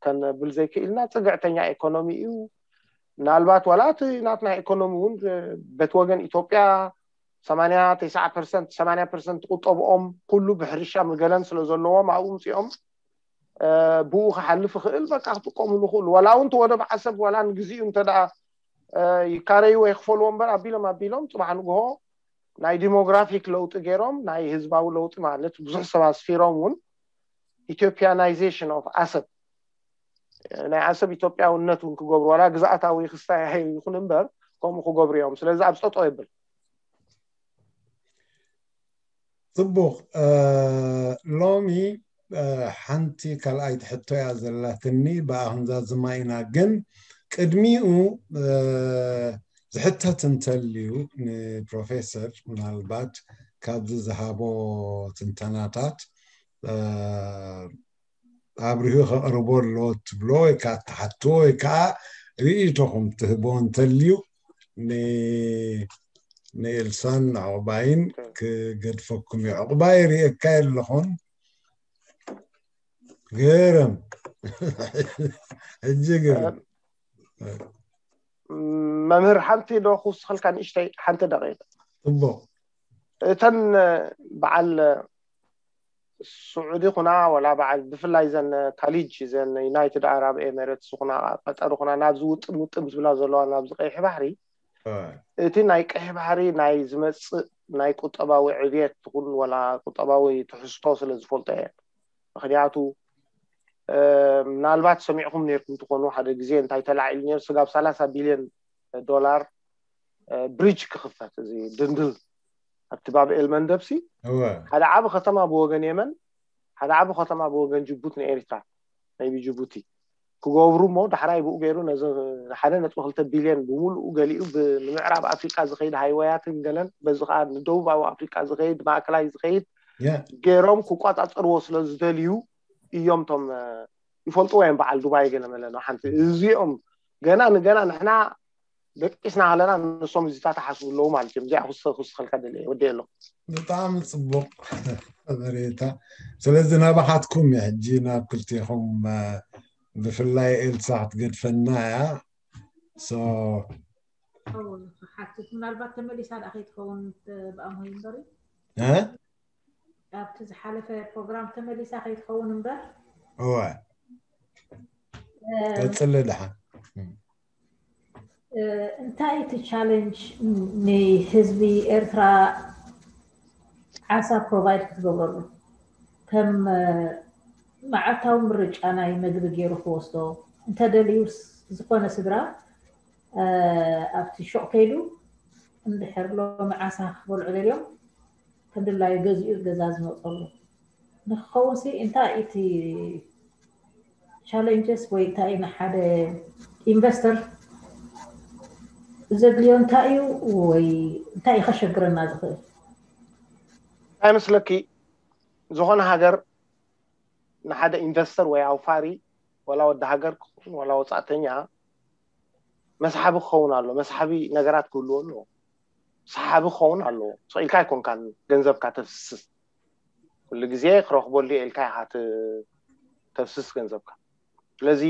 ከነብል ዘይክእልና ፅግዕተኛ ኢኮኖሚ እዩ። ምናልባት ዋላ እቲ ናትና ኢኮኖሚ እውን በቲ ወገን ኢትዮጵያ ሰማንያ ተስዓ ፐርሰንት ሰማንያ ፐርሰንት ቁጠብኦም ኩሉ ብሕርሻ ምግለን ስለ ዘለዎም ኣብኡ ምፅኦም ብኡ ክሓልፍ ይኽእል በቃ ክጥቀሙሉ ይኽእሉ። ዋላ እውን እቲ ወደብ ዓሰብ ዋላ ንግዚኡ እንተ ይካረይዎ ይክፈልዎ እምበር ኣቢሎም ኣቢሎም ፅባሕ ንግሆ ናይ ዲሞግራፊክ ለውጢ ገይሮም ናይ ህዝባዊ ለውጢ ማለት ብዙሕ ሰብ ኣስፊሮም እውን ኢትዮጵያናይዜሽን ኦፍ ዓሰብ ናይ ዓሰብ ኢትዮጵያውነት እውን ክገብሩ ዋላ ግዝኣታዊ ክስታይ ይኹን እምበር ከምኡ ክገብሩ እዮም። ስለዚ ኣብ ፀጦ የብል። ፅቡቕ። ሎሚ ሓንቲ ካልኣይቲ ሕቶ እያ ዘላትኒ ብኣኽንዛዝማ ኢና ግን ቅድሚኡ ዝሕተት እንተልዩ ንፕሮፌሰር ምናልባት ካብዚ ዝሃቦ ትንተናታት ኣብሪሁ ከቕርቦ ኣለዎ ትብሎ ወይ ከዓ ትሓትዎ ወይ ከዓ ርእይቶኹም ትህቦ እንተልዩ ንኤልሳን ንዕቑባይን ክገድፈኩም እዩ። ዕቑባይ ርእየካ የለኹን። ገረም ሕጂ ገረም መምህር ሓንቲ ዶ ክውስኸልካ ንእሽተይ ሓንቲ ደቂቕ ፅቡቕ እተን በዓል ስዑዲ ኩና ወላ በዓል ብፍላይ ዘን ካሊጅ ዘን ዩናይትድ ኣራብ ኤሜሬትስ ኩና ቀጠር ኩና ናብዚ ውጥም ውጥም ዝብላ ዘለዋ ናብዚ ቀይሕ ባሕሪ እቲ ናይ ቀይሕ ባሕሪ ናይ ዝመፅእ ናይ ቁጠባዊ ዕብየት ትኹን ወላ ቁጠባዊ ትሕዝቶ ስለ ዝፈልጦ እየ። ምክንያቱ ምናልባት ሰሚዕኩም ነርኩም ትኾኑ ሓደ ግዜ እንታይ ተላዒሉ ነር ስጋብ ሰላሳ ቢልዮን ዶላር ብሪጅ ክኽፈት እዚ ድንድል ኣብቲ ባብ ኤልመንደብሲ ሓደ ዓብ ከተማ ብወገን የመን ሓደ ዓብ ከተማ ብወገን ጅቡቲ ንኤሪትራ ናይ ብጅቡቲ ክገብሩ እሞ ዳሕራይ ብኡ ገይሩ ነዚ ሓደ ነጥቢ ክልተ ቢልዮን ብምሉኡ ገሊኡ ንምዕራብ ኣፍሪቃ ዝኸይድ ሃይወያትን ገለን በዚ ከዓ ንደቡባዊ ኣፍሪቃ ዝኸይድ ማእከላይ ዝኸይድ ገይሮም ክቋፃፀርዎ ስለ ዝደልዩ እዮም ቶም ይፈልጥዎ እዮም በዓል ዱባይ ገለ መለ ነው ሓንቲ እዚኦም ገና ንገና ንሕና ደቂስና ከለና ንሶም እዚታት ሓስቡ ኣለዉ ማለት እዮም እዚኣ ክስ ክስኸልካ ደለ ወደ ኣለኹ ብጣዕሚ ፅቡቅ መሬታ ስለዚ ናባኻትኩም እዩ ሕጂ ናብ ክልቴኹም ብፍላይ ኤልሳ ክትገድፈና እያ ሓትት ምናልባት ተመሊሳ ዳ ከይትኸውን ብኣምሆይ እምበሪ ኣብቲ ዝሓለፈ ፕሮግራም ተመሊሳ ከይትኸውን እምበር እወ ቀፅሊ ድሓን እንታይ እቲ ቻለንጅ ንህዝቢ ኤርትራ ዓሳ ፕሮቫይድ ክትገብረሉ ከም መዓልታዊ ምርጫ ናይ መግቢ ገይሩ ክወስዶ እንተደልዩ ዝኾነ ስድራ ኣብቲ ሹቕ ከይዱ እንድሕር ሎሚ ዓሳ ክበልዑ ደልዮም ከም ድላዩ ገዚኡ ገዛ ዝመፀሉ ንክኸውን ሲ እንታይ እቲ ቻለንጀስ ወይ እንታይ ንሓደ ኢንቨስተር ዘድልዮ እንታይ እዩ ወይ እንታይ ከሸግረና ዝኽእል እንታይ መስለኪ ዝኾነ ሃገር ንሓደ ኢንቨስተር ወይ ኣውፋሪ ወላ ወዲ ሃገር ክኸውን ወላ ወፃእተኛ መስሓቢ ክኸውን ኣሎ መስሓቢ ነገራት ክህልዎ ኣለዎ ሰሓቢ ክኸውን ኣለዎ ስቕ ኢልካ ኣይኮንካን ገንዘብካ ተፍስስ ኩሉ ግዜ ክረኽበሉ ኢልካ ኢኻ ተፍስስ ገንዘብካ ስለዚ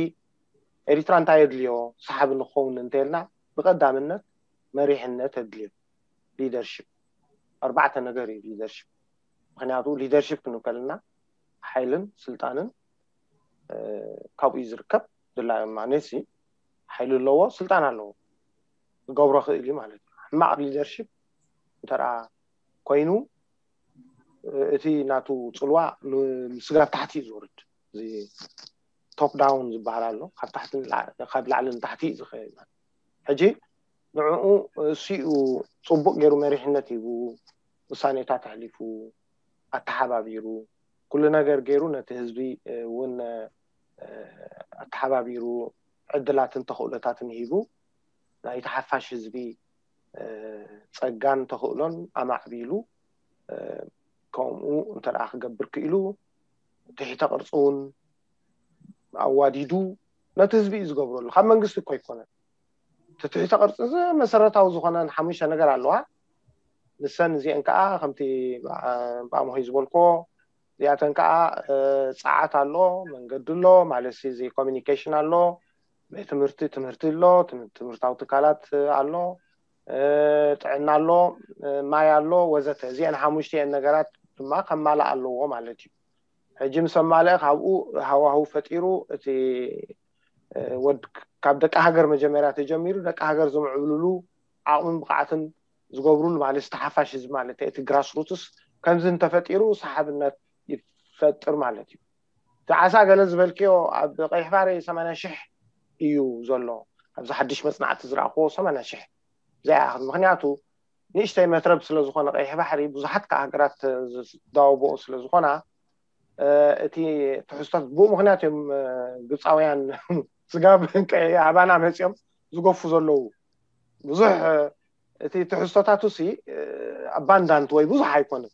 ኤሪትራ እንታይ የድልዮ ሰሓቢ ንክኸውን እንተልና ብቀዳምነት መሪሕነት የድልዮ ሊደርሽፕ ኣርባዕተ ነገር እዩ ሊደርሽፕ ምክንያቱ ሊደርሽፕ ክንከልና ሓይልን ስልጣንን ካብኡ እዩ ዝርከብ ድላ ማነሲ ሓይሊ ኣለዎ ስልጣን ኣለዎ ክገብሮ ክእል እዩ ማለት እዩ ሕማቅ ሊደርሽፕ እንተ ኮይኑ እቲ ናቱ ፅልዋ ምስጋብ ታሕቲ እዩ ዝወርድ። እዚ ቶፕ ዳውን ዝበሃል ኣሎ። ካብ ላዕሊ ንታሕቲ እዩ ዝኸይድ። ሕጂ ንዕኡ እሱኡ ፅቡቅ ገይሩ መሪሕነት ሂቡ፣ ውሳኔታት ኣሕሊፉ፣ ኣተሓባቢሩ፣ ኩሉ ነገር ገይሩ ነቲ ህዝቢ እውን ኣተሓባቢሩ፣ ዕድላትን ተኽእሎታትን ሂቡ፣ ናይቲ ሓፋሽ ህዝቢ ፀጋን ተኽእሎን ኣማዕቢሉ፣ ከምኡ እንተ ክገብር ክኢሉ፣ ትሕተ ቅርፂ እውን ኣዋዲዱ ነቲ ህዝቢ እዩ ዝገብረሉ። ካብ መንግስቲ እኮ ኣይኮነን። እቲ ትሕተ ቅርፂ መሰረታዊ ዝኾነ ሓሙሽተ ነገር ኣለዋ። ንሰን እዚአን ከዓ ከምቲ ብኣምሆይ ዝበልኮ፣ እዚኣተን ከዓ ፀዓት ኣሎ፣ መንገዲ ኣሎ፣ ማለት እዚ ኮሚኒኬሽን ኣሎ፣ ቤት ትምህርቲ ትምህርቲ ኣሎ፣ ትምህርታዊ ትካላት ኣሎ፣ ጥዕና ኣሎ፣ ማይ ኣሎ፣ ወዘተ። እዚአን ሓሙሽተ እየን ነገራት ድማ ከማልእ ኣለዎ ማለት እዩ። ሕጂ ምስ ኣማልአ ካብኡ ሃዋህው ፈጢሩ እቲ ወድ ካብ ደቂ ሃገር መጀመርያ ተጀሚሩ ደቂ ሃገር ዝምዕብልሉ ዓቕምን ብቕዓትን ዝገብሩሉ ማለት ዝተሓፋሽ ህዝቢ ማለት እቲ ግራስ ሩትስ ከምዚ እንተፈጢሩ ሰሓብነት ይፈጥር ማለት እዩ። እቲ ዓሳ ገለ ዝበልክዮ ኣብ ቀይሕ ባሕሪ ሰማንያ ሽሕ እዩ ዘሎ። ኣብዚ ሓድሽ መፅናዕቲ ዝረኣኽዎ ሰማንያ ሽሕ ዘይኣኽል። ምክንያቱ ንእሽተይ መትረብ ስለ ዝኾነ ቀይሕ ባሕሪ ብዙሓት ከዓ ሃገራት ዝዳወቦኦ ስለ ዝኾና እቲ ትሕዝቶት ብኡ ምክንያት እዮም ግብፃውያን ስጋብ ቀይ ኣባና መፂኦም ዝገፉ ዘለዉ። ብዙሕ እቲ ትሕዝቶታቱ ሲ ኣባንዳንት ወይ ብዙሕ ኣይኮነን።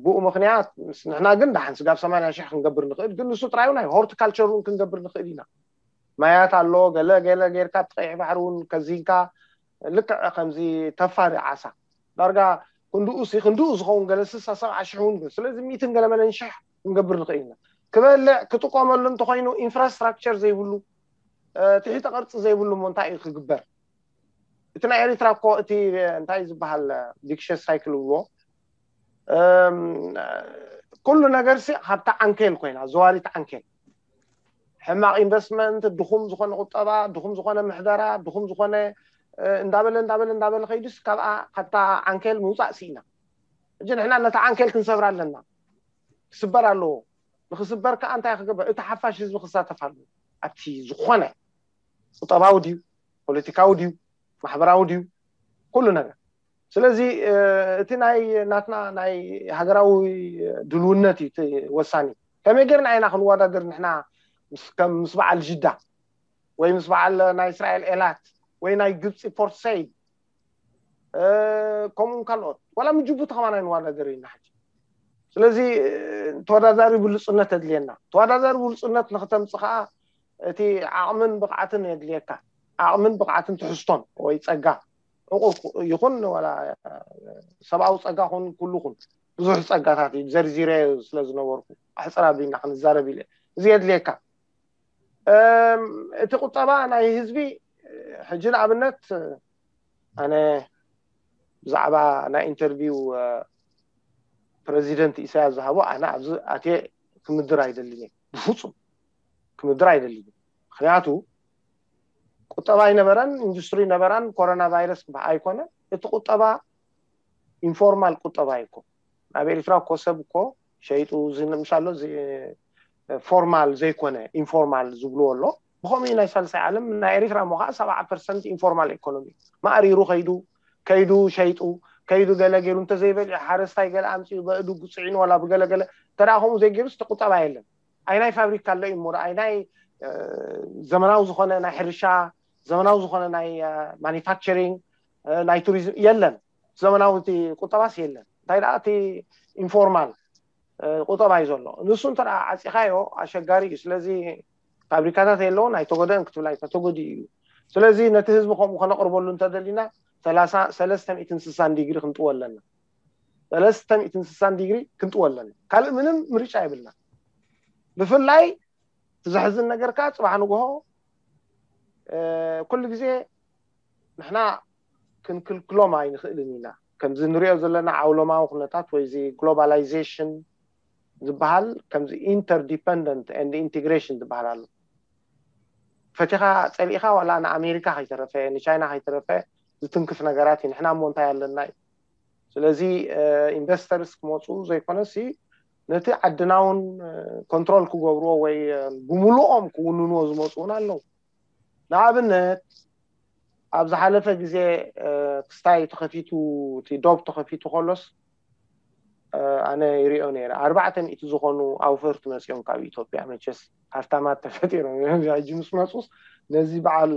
ብኡ ምክንያት ንሕና ግን ደሓን ስጋብ ሰማንያ ሽሕ ክንገብር ንኽእል፣ ግን ንሱ ጥራይ እውን ሆርቲካልቸር እውን ክንገብር ንኽእል ኢና። ማያት ኣሎ፣ ገለ ገለ ጌርካ እቲ ቀይሕ ባሕሪ እውን ከዚንካ ልክዕ ከምዚ ተፋሪ ዓሳ ዳርጋ ክንድኡ ሲ ክንድኡ ዝኸውን ገለ ስሳ ሰብዓ ሽሕ እውን፣ ስለዚ ሚእትን ገለ መለን ሽሕ ክንገብር ንኽእል ኢና። ክበልዕ ክጥቀመሉ እንተኮይኑ ኢንፍራስትራክቸር ዘይብሉ ትሕተ ቅርፂ ዘይብሉ እሞ እንታይ እዩ ክግበር? እቲ ናይ ኤሪትራ እኮ እቲ እንታይ ዝበሃል ቪክሸስ ሳይክል ብሎ ኩሉ ነገር ሲ ካብታ ዓንኬል ኮይና ዘዋሪት ዓንኬል ሕማቕ ኢንቨስትመንት፣ ድኹም ዝኾነ ቁጠባ፣ ድኹም ዝኾነ ምሕደራ፣ ድኹም ዝኾነ እንዳበለ እንዳበለ እንዳበለ ከይዱስ ካብኣ ካብታ ዓንኬል ምውፃእ ስኢና። ሕጂ ንሕና ነታ ዓንኬል ክንሰብራ ኣለና። ክስበር ኣለዎ። ንክስበር ከዓ እንታይ ክግበር? እቲ ሓፋሽ ህዝቢ ክሳተፍ ኣለዎ ኣብቲ ዝኾነ ቁጠባዊ ድዩ፣ ፖለቲካዊ ድዩ፣ ማሕበራዊ ድዩ፣ ኩሉ ነገር። ስለዚ እቲ ናይ ናትና ናይ ሃገራዊ ድልውነት እዩ ወሳኒ። ከመይ ጌርና ኢና ክንወዳደር ንሕና ምስ በዓል ጅዳ ወይ ምስ በዓል ናይ እስራኤል ኤላት ወይ ናይ ግብፂ ፖርት ሰይድ ከምኡ ካልኦት ዋላ ምጅቡቲ ከማን ኣይንወዳደር ኢና ሕጂ። ስለዚ ተወዳዳሪ ብሉፅነት የድልየና። ተወዳዳሪ ብሉፅነት ንክተምፅ ከዓ እቲ ዓቕምን ብቕዓትን የድልየካ። ዓቕምን ብቕዓትን ትሕዝቶን ወይ ፀጋ ዕቑር ይኹን ዋላ ሰብኣዊ ፀጋ ኹን ኩሉ ኹን ብዙሕ ፀጋታት እዩ ዘርዚረ ስለ ዝነበርኩ ኣሕፅር ኣቢልና ክንዛረብ ኢለ። እዚ የድልየካ። እቲ ቁጠባ ናይ ህዝቢ ሕጂ ንኣብነት ኣነ ብዛዕባ ናይ ኢንተርቪው ፕረዚደንት ኢሳያስ ዝሃቦ ኣነ ኣብዚ ኣትየ ክምድር ኣይደልን እየ። ብፍፁም ክምድር ኣይደልን። ምክንያቱ ቁጠባ ኣይነበረን፣ ኢንዱስትሪ ነበራን ኮሮና ቫይረስ ክበሃል ኣይኮነ። እቲ ቁጠባ ኢንፎርማል ቁጠባ ይኮ ኣብ ኤሪትራ እኮ ሰብ እኮ ሸይጡ ዝንምሻሎ ፎርማል ዘይኮነ ኢንፎርማል ዝብልዎ ኣሎ። ብኸምኡ ናይ ሳልሳይ ዓለም ናይ ኤሪትራ እሞ ከዓ ሰብዓ ፐርሰንት ኢንፎርማል ኢኮኖሚ ማእሪሩ ከይዱ ከይዱ ሸይጡ ከይዱ ገለ ገይሩ እንተዘይበሊዑ ሓረስታይ ገለ ኣምፅኡ በእዱ ጉፅዒኑ ዋላ ብገለገለ ተደኣ ከምኡ ዘይገይሩስ ቁጠባ የለን። ኣይ ናይ ፋብሪካ ኣሎ እዩ እሞ ኣይ ናይ ዘመናዊ ዝኾነ ናይ ሕርሻ ዘመናዊ ዝኾነ ናይ ማኒፋክቸሪንግ ናይ ቱሪዝም የለን። ዘመናዊ እቲ ቁጠባስ የለን። እንታይ ደኣ እቲ ኢንፎርማል ቁጠባ እዩ ዘሎ። ንሱ እንተ ዓፂኻዮ ኣሸጋሪ እዩ። ስለዚ ፋብሪካታት የለውን ኣይተጎደእን ክትብል ኣይተተጎዲ እዩ። ስለዚ ነቲ ህዝቢ ከምኡ ከነቅርበሉ እንተደሊና ሰለስተ ሚእትን ስሳን ዲግሪ ክንጥዎ ኣለና። ሰለስተ ሚእትን ስሳን ዲግሪ ክንጥዎ ኣለና። ካልእ ምንም ምርጫ የብልና። ብፍላይ እቲ ዘሕዝን ነገር ከዓ ፅባሕ ንግሆ ኩሉ ግዜ ንሕና ክንክልክሎም ኣይንኽእልን ኢና። ከምዚ ንሪኦ ዘለና ዓውሎማዊ ኩነታት ወይ እዚ ግሎባላይዜሽን ዝበሃል ከምዚ ኢንተርዲፐንደንት ኤንድ ኢንቴግሬሽን ዝበሃል ኣሎ። ፈቲኻ ፀሊእኻ ዋላ ንኣሜሪካ ከይተረፈ ንቻይና ከይተረፈ ዝትንክፍ ነገራት እዩ። ንሕና እሞ እንታይ ኣለና እዩ። ስለዚ ኢንቨስተርስ ክመፁ ዘይኮነሲ ነቲ ዓድና እውን ኮንትሮል ክገብርዎ ወይ ብምልኦም ክውንንዎ ዝመፁ እውን ኣለዉ። ንኣብነት ኣብ ዝሓለፈ ግዜ ክስታይ ተኸፊቱ፣ እቲ ዶብ ተኸፊቱ ከሎስ ኣነ ይሪኦ ነይረ። ኣርባዕተ ሚእቲ ዝኾኑ ኣውፈርቲ መፂኦም ካብ ኢትዮጵያ። መቸስ ሃፍታማት ተፈጢሮም እዮም። ሕጂ ምስ መፁስ ነዚ በዓል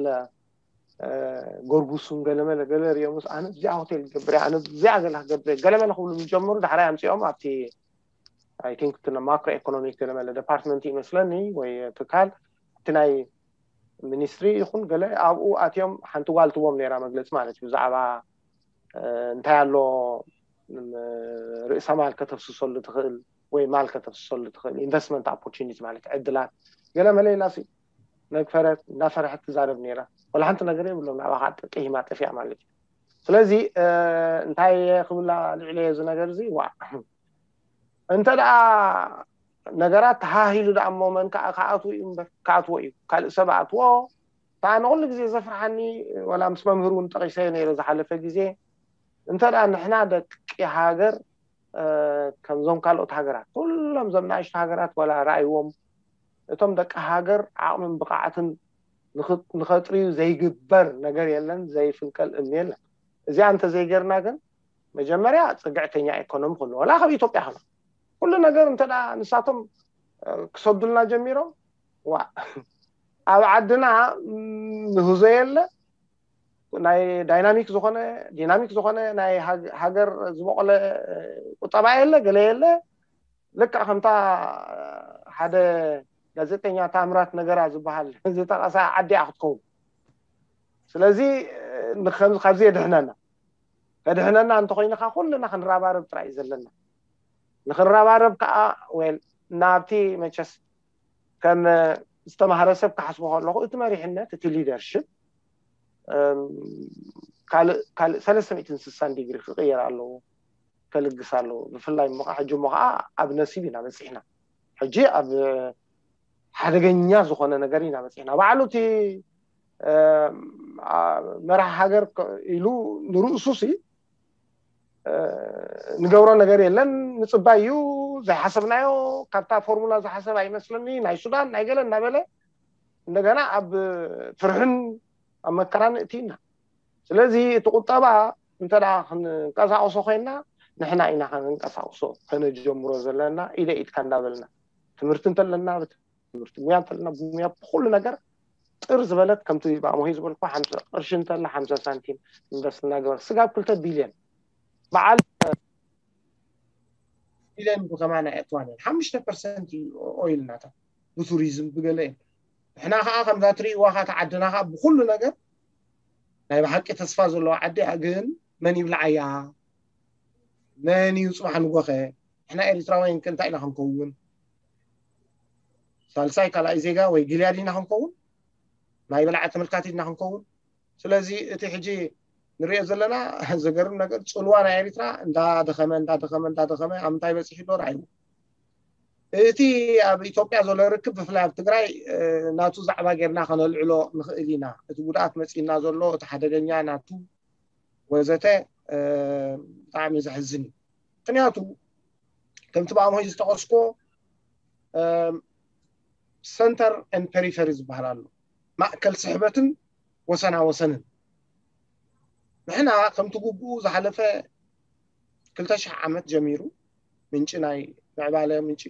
ጎርጉሱን ገለመለ ገለ ሪኦምስ ኣነ እዚኣ ሆቴል ክገብር እየ፣ ኣነ እዚኣ ገለ ክገብር እየ ገለመለ ክብሉ ምስ ጀመሩ ዳሕራይ ኣምፂኦም ኣብቲ I think እቲ ማክሮ ኢኮኖሚክ ገለመለ ዲፓርትመንት ይመስለኒ ወይ ትካል እቲ ናይ ሚኒስትሪ ይኹን ገለ ኣብኡ ኣትዮም ሓንቲ ጓል ትቦም ነይራ መግለፂ ማለት እዩ ብዛዕባ እንታይ ኣሎ ርእሰ ማል ከተፍስሰሉ ትኽእል ወይ ማል ከተፍስሰሉ ትኽእል ኢንቨስትመንት ኦፖርቹኒቲ ማለት ዕድላት ገለ መለ ኢላሲ ነግፈረት እንዳፈረሐት ትዛረብ ነይራ። ወላ ሓንቲ ነገር የብሎም ናባኻ ጥቅሂማ ጠፊኣ ማለት እዩ። ስለዚ እንታይ ክብላ ልዕለየ እዚ ነገር እዚ ዋ እንተ ደኣ ነገራት ተሃሂሉ ደኣ እሞ መን ከዓ ክኣትዎ እዩ እምበር ክኣትዎ እዩ ካልእ ሰብ ኣትዎ። እታ ንኩሉ ግዜ ዘፍርሓኒ ወላ ምስ መምህር እውን ጠቂሰ ነይረ ዝሓለፈ ግዜ እንተ ደኣ ንሕና ደቂ ሃገር ከምዞም ካልኦት ሃገራት ኩሎም ዘም ንኣሽቱ ሃገራት ወላ ረኣይዎም እቶም ደቂ ሃገር ዓቕምን ብቕዓትን ንኸጥርዩ ዘይግበር ነገር የለን፣ ዘይፍንቀል እምኒ የለን። እዚኣ እንተዘይገርና ግን መጀመርያ ፅግዕተኛ ኢኮኖሚ ክህሉ ወላ ካብ ኢትዮጵያ ክህሉ ኩሉ ነገር እንተ ንሳቶም ክሰዱልና ጀሚሮም ዋ ኣብ ዓድና ምህዞ የለ ናይ ዳይናሚክ ዝኾነ ዲናሚክ ዝኾነ ናይ ሃገር ዝበቆለ ቁጠባ የለ ገለ የለ ልክዕ ከምታ ሓደ ጋዜጠኛ ታምራት ነገራ ዝበሃል ዝጠቐሳ ዓዲ ክትከውን ስለዚ ካብዚ የድሕነና ከድሕነና እንተኮይንካ ኩልና ክንረባረብ ጥራይ እዩ ዘለና ንክንረባረብ ከዓ ወል ናብቲ መቸስ ከም ዝተማህረ ሰብ ክሓስቦ ከለኹ እቲ መሪሕነት እቲ ሊደርሽፕ ካልእ ሰለስተ ሚእትን ስሳን ዲግሪ ክቅየር ኣለዎ ከልግስ ኣለዎ ብፍላይ ሞ ሕጂ ሞ ከዓ ኣብ ነሲብ ኢና በፂሕና ሕጂ ኣብ ሓደገኛ ዝኾነ ነገር ኢና በፂሕና ባዕሉ እቲ መራሕ ሃገር ኢሉ ንርእሱ ሲ ንገብሮ ነገር የለን ምፅባይ እዩ ዘይሓሰብናዮ ካብታ ፎርሙላ ዝሓሰብ ኣይመስለኒ ናይ ሱዳን ናይ ገለ እናበለ እንደገና ኣብ ፍርሕን ኣብ መከራን እትይና ስለዚ እቲ ቁጠባ እንተ ክንቀሳቀሶ ኮይና ንሕና ኢና ክንቀሳቅሶ ከነጀምሮ ዘለና ኢደ ኢድካ እንዳበልና ትምህርቲ እንተለና ትምህርቲ ሙያ እንተለና ሙያ ብኩሉ ነገር ጥር ዝበለት ከምቲ ብኣሞሂ ዝበልኩ ሓምሳ ቅርሺ እንተላ ሓምሳ ሳንቲም ኢንቨስት እናገበር ስጋብ ክልተ ቢልዮን በዓል ቢልዮን ብከማና የእትዋን ሓሙሽተ ፐርሰንት ኦይል ናታ ብቱሪዝም ብገለ እዩ ንሕና ከዓ ከምዛ ትርእይዋ ከዓ ተዓድና ከዓ ብኩሉ ነገር ናይ ብሓቂ ተስፋ ዘለዎ ዓዲ እያ ግን መን ይብልዓያ መን እዩ ፅባሕ ንጎኸ ንሕና ኤሪትራውያን ከ እንታይ ኢና ክንከውን ሳልሳይ ካልኣይ ዜጋ ወይ ግልያድ ኢና ክንከውን ናይ በላዓ ተመልካቲ ኢና ክንከውን ስለዚ እቲ ሕጂ ንሪኦ ዘለና ዘገርም ነገር ፅልዋ ናይ ኤሪትራ እንዳደኸመ እንዳደኸመ እንዳደኸመ ኣብ ምንታይ በፂሑ ዶ ርኣይዎ እቲ ኣብ ኢትዮጵያ ዘሎ ርክብ ብፍላይ ኣብ ትግራይ ናቱ ዛዕባ ጌርና ከነልዕሎ ንኽእል ኢና እቲ ጉድኣት መፂና ዘሎ እቲ ሓደገኛ ናቱ ወዘተ ብጣዕሚ ዘሕዝን እዩ ምክንያቱ ከምቲ ብኣምሆይ ዝጠቀስኮ ሰንተር ን ፔሪፈሪ ዝበሃል ኣሎ ማእከል ስሕበትን ወሰና ወሰንን ንሕና ከምቲ ግቡኡ ዝሓለፈ ክልተ ሽሕ ዓመት ጀሚሩ ምንጪ ናይ ምዕባለ ምንጪ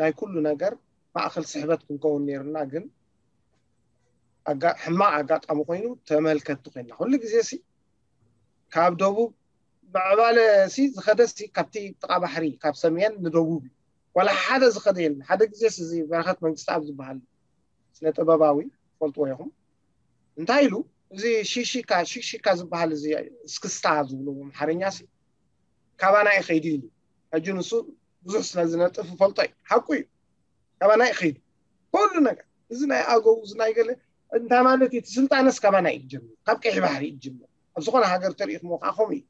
ናይ ኩሉ ነገር ማእኸል ስሕበት ክንከውን ነይርና ግን ሕማቕ ኣጋጣሚ ኮይኑ ተመልከቲ ኮይና ኩሉ ግዜ ሲ ካብ ደቡብ ምዕባለ ሲ ዝኸደ ሲ ካብቲ ጥቓ ባሕሪ ካብ ሰሜን ንደቡብ እዩ ዋላ ሓደ ዝኸደ የለን ሓደ ግዜ ሲ እዚ በረኸት መንግስቲ ኣብ ዝበሃል ስነ ጥበባዊ ፈልጥዎ ኢኹም እንታይ ኢሉ እዚ ሺሺካ ሺሺካ ዝበሃል እዚ እስክስታ ዝብሉ ኣምሓርኛ ሲ ካባና ይኸይዱ ኢሉ ሕጂ ንሱ ብዙሕ ስለ ዝነጥፍ ፈልጦ እዩ ሓቁ እዩ ካባና ይኸይዱ ኩሉ ነገር እዚ ናይ ኣገው እዚ ናይ ገለ እንታይ ማለት እዩ ስልጣነስ ካባና እዩ ጀምር ካብ ቀይሕ ባሕሪ እዩ ጀምር ኣብ ዝኾነ ሃገር ተሪኢኹሞ ከዓ ከምኡ እዩ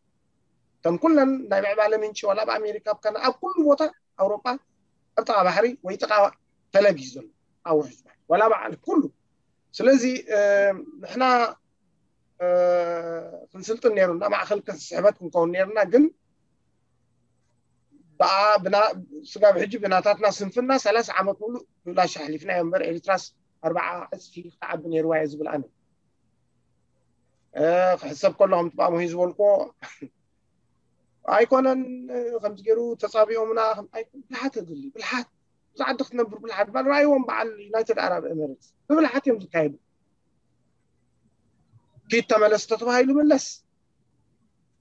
እቶም ኩለን ናይ ምዕባለ ምንጪ ዋላ ኣብ ኣሜሪካ ኣብ ካና ኣብ ኩሉ ቦታ ኣውሮጳ ኣብ ጥቓ ባሕሪ ወይ ጥቓ ፈለግ እዩ ዘሎ ኣብ ውሕጅ ባሕሪ ዋላ በዓል ኩሉ ስለዚ ንሕና ክንስልጥን ነይሩና ማእኸል ስሕበት ክንከውን ነይርና ግን ብኣ ብና- ስጋብ ሕጂ ብናታትና ስንፍና ሰላሳ ዓመት ሙሉእ ብብላሽ ኣሕሊፍና እዮ እምበር ኤርትራስ ኣርባዓ ዕፅፊ ክትዓቢ ነይርዋ እየ ዝብል ኣነ። ክሕሰብ ከሎ ከምቲ ብኣሞሂ ዝበልኮ ኣይኮነን። ከምዚ ገይሩ ተፃቢኦምና ብልሓት የድሊ። ብልሓት ብዛ ዓዲ ክትነብር ብልሓት ባል ራእይዎም በዓል ዩናይትድ ኣረብ ኤምሬትስ ብብልሓት እዮም ዝካየዱ። ኪድ ተመለስ ተተባሂሉ ምለስ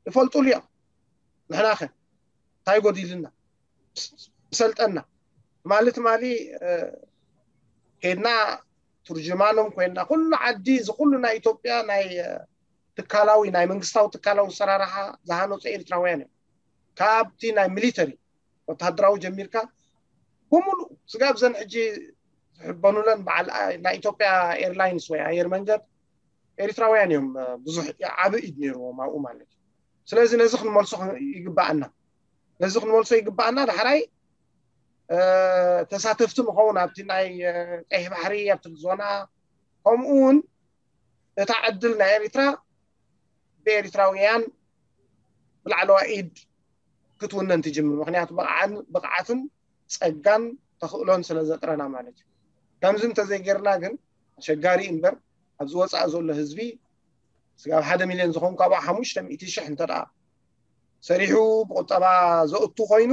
ይፈልጡሉ እዮም። ንሕናኸ እንታይ ጎዲልና ሰልጠና ማለት ማሊ ከድና ትርጅማኖም ኮይና ኩሉ ዓዲ እዚ ኩሉ ናይ ኢትዮጵያ ናይ ትካላዊ ናይ መንግስታዊ ትካላዊ ሰራርሓ ዝሃነፁ ኤርትራውያን እዮም። ካብቲ ናይ ሚሊተሪ ወታደራዊ ጀሚርካ ብምሉእ ስጋብ ዘን ሕጂ ዝሕበኑለን በዓል ናይ ኢትዮጵያ ኤርላይንስ ወይ ኣየር መንገድ ኤርትራውያን እዮም። ብዙሕ ዓቢ ኢድ ነይርዎም ኣብኡ ማለት እዩ። ስለዚ ነዚ ክንመልሶ ይግባኣና። ነዚ ክንመልሶ ይግባኣና። ዳሕራይ ተሳተፍቲ ንኸውን ኣብቲ ናይ ቀይሕ ባሕሪ ኣብቲ ዞና ከምኡ እውን እታ ዕድል ናይ ኤርትራ ብኤርትራውያን ብላዕለዋ ኢድ ክትውነን ትጅምር። ምክንያቱ ብቕዓትን ጸጋን ተኽእሎን ስለ ዘጥረና ማለት እዩ። ከምዚ እንተዘይጌርና ግን ኣሸጋሪ እምበር ኣብዚ ወፃእ ዘሎ ህዝቢ ስጋብ ሓደ ሚልዮን ዝኸውን ካብኡ ሓሙሽተ ሚእቲ ሽሕ እንተ ደኣ ሰሪሑ ብቁጠባ ዘእቱ ኮይኑ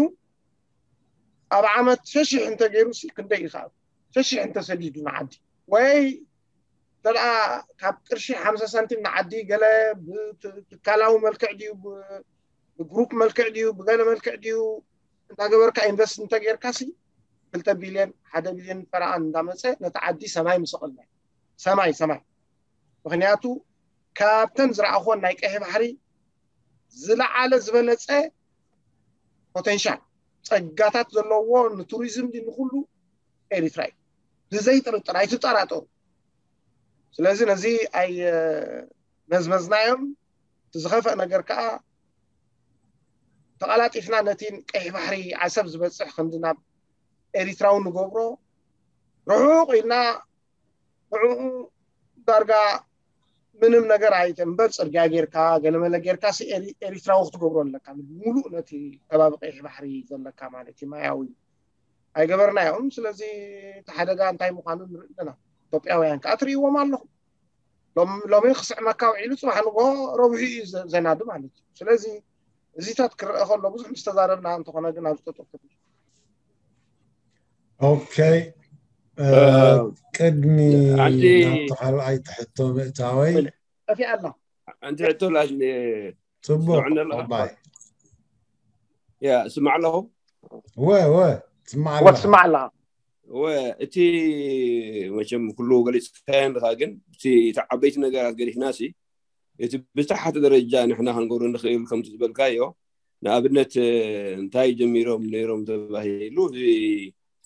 ኣብ ዓመት ሸሽሕ እንተገይሩ ሲ ክንደይ ይኽኣል ሸሽሕ እንተሰዲዱ ንዓዲ ወይ እንተ ደኣ ካብ ቅርሺ ሓምሳ ሳንቲም ንዓዲ ገለ ብትካላዊ መልክዕ ድዩ ብግሩፕ መልክዕ ድዩ ብገለ መልክዕ ድዩ እንዳገበርካ ኢንቨስት እንተጌርካ ሲ ክልተ ቢልዮን ሓደ ቢልዮን ፈረቓን እንዳመፀ ነቲ ዓዲ ሰማይ ምሰቐልና ሰማይ ሰማይ ምክንያቱ ካብተን ዝረኣኾን ናይ ቀይሕ ባሕሪ ዝለዓለ ዝበለፀ ፖቴንሻል ፀጋታት ዘለዎ ንቱሪዝም ድዩ ንኩሉ ኤሪትራ እዩ። ብዘይ ጥርጥር ኣይትጠራጠሩ። ስለዚ ነዚ ኣይ መዝመዝናዮም። እቲ ዝኸፍአ ነገር ከዓ ተቐላጢፍና ነቲ ቀይሕ ባሕሪ ዓሰብ ዝበፅሕ ክንዲ ናብ ኤሪትራዊ ንገብሮ ርሑቕ ኢልና ንዕኡ ዳርጋ ምንም ነገር ኣይተ እምበር ፅርግያ ጌርካ ገለመለ ጌርካ ሲ ኤሪ- ኤሪትራዊ ክትገብሮ ኣለካ ሙሉእ ነቲ ከባቢ ቀይሕ ባሕሪ ዘለካ ማለት እዩ ማያዊ ኣይገበርናዮም። ስለዚ እቲ ሓደጋ እንታይ ምዃኑ ንርኢ ኣለና። ኢትዮጵያውያን ከዓ ትርእይዎም ኣለኹም። ሎም- ሎሚ ክስዕመካ ውዒሉ ፅባሕ ንጎ ረብሑ እዩ ዘ- ዘናዱ ማለት እዩ። ስለዚ እዚታት ክረአ ከሎ ብዙሕ ምስ ተዛረብና እንተኾነ ግን ኣብዚ ጠጠው ክብል ኦኬ እ፣ ቅድሚ ሓንቲ ናብቲ ካልኣይ ትሕቶ ምእታወይ ጠፊኣ ኣላ። ሓንቲ ሕቶ ላሽ ፅቡቅ ስምዕኒ ኣለኻ? ባይ ያ ስማዕ ኣለኹ ወ ወ ትስማዕ ወ ኣለኻ ትስማዕ ኣለኻ ወ እቲ መቸም ኩሉ ገሊፅካዮ ኣለኻ ግን እቲ እቲ ዓበይቲ ነገራት ገዲፍና ሲ እቲ ብዝተሓተ ደረጃ ንሕና ክንገብሮ ንኽእል ከምቲ ዝበልካዮ ንኣብነት እንታይ ጀሚሮም ነይሮም ተባሂሉ እዚ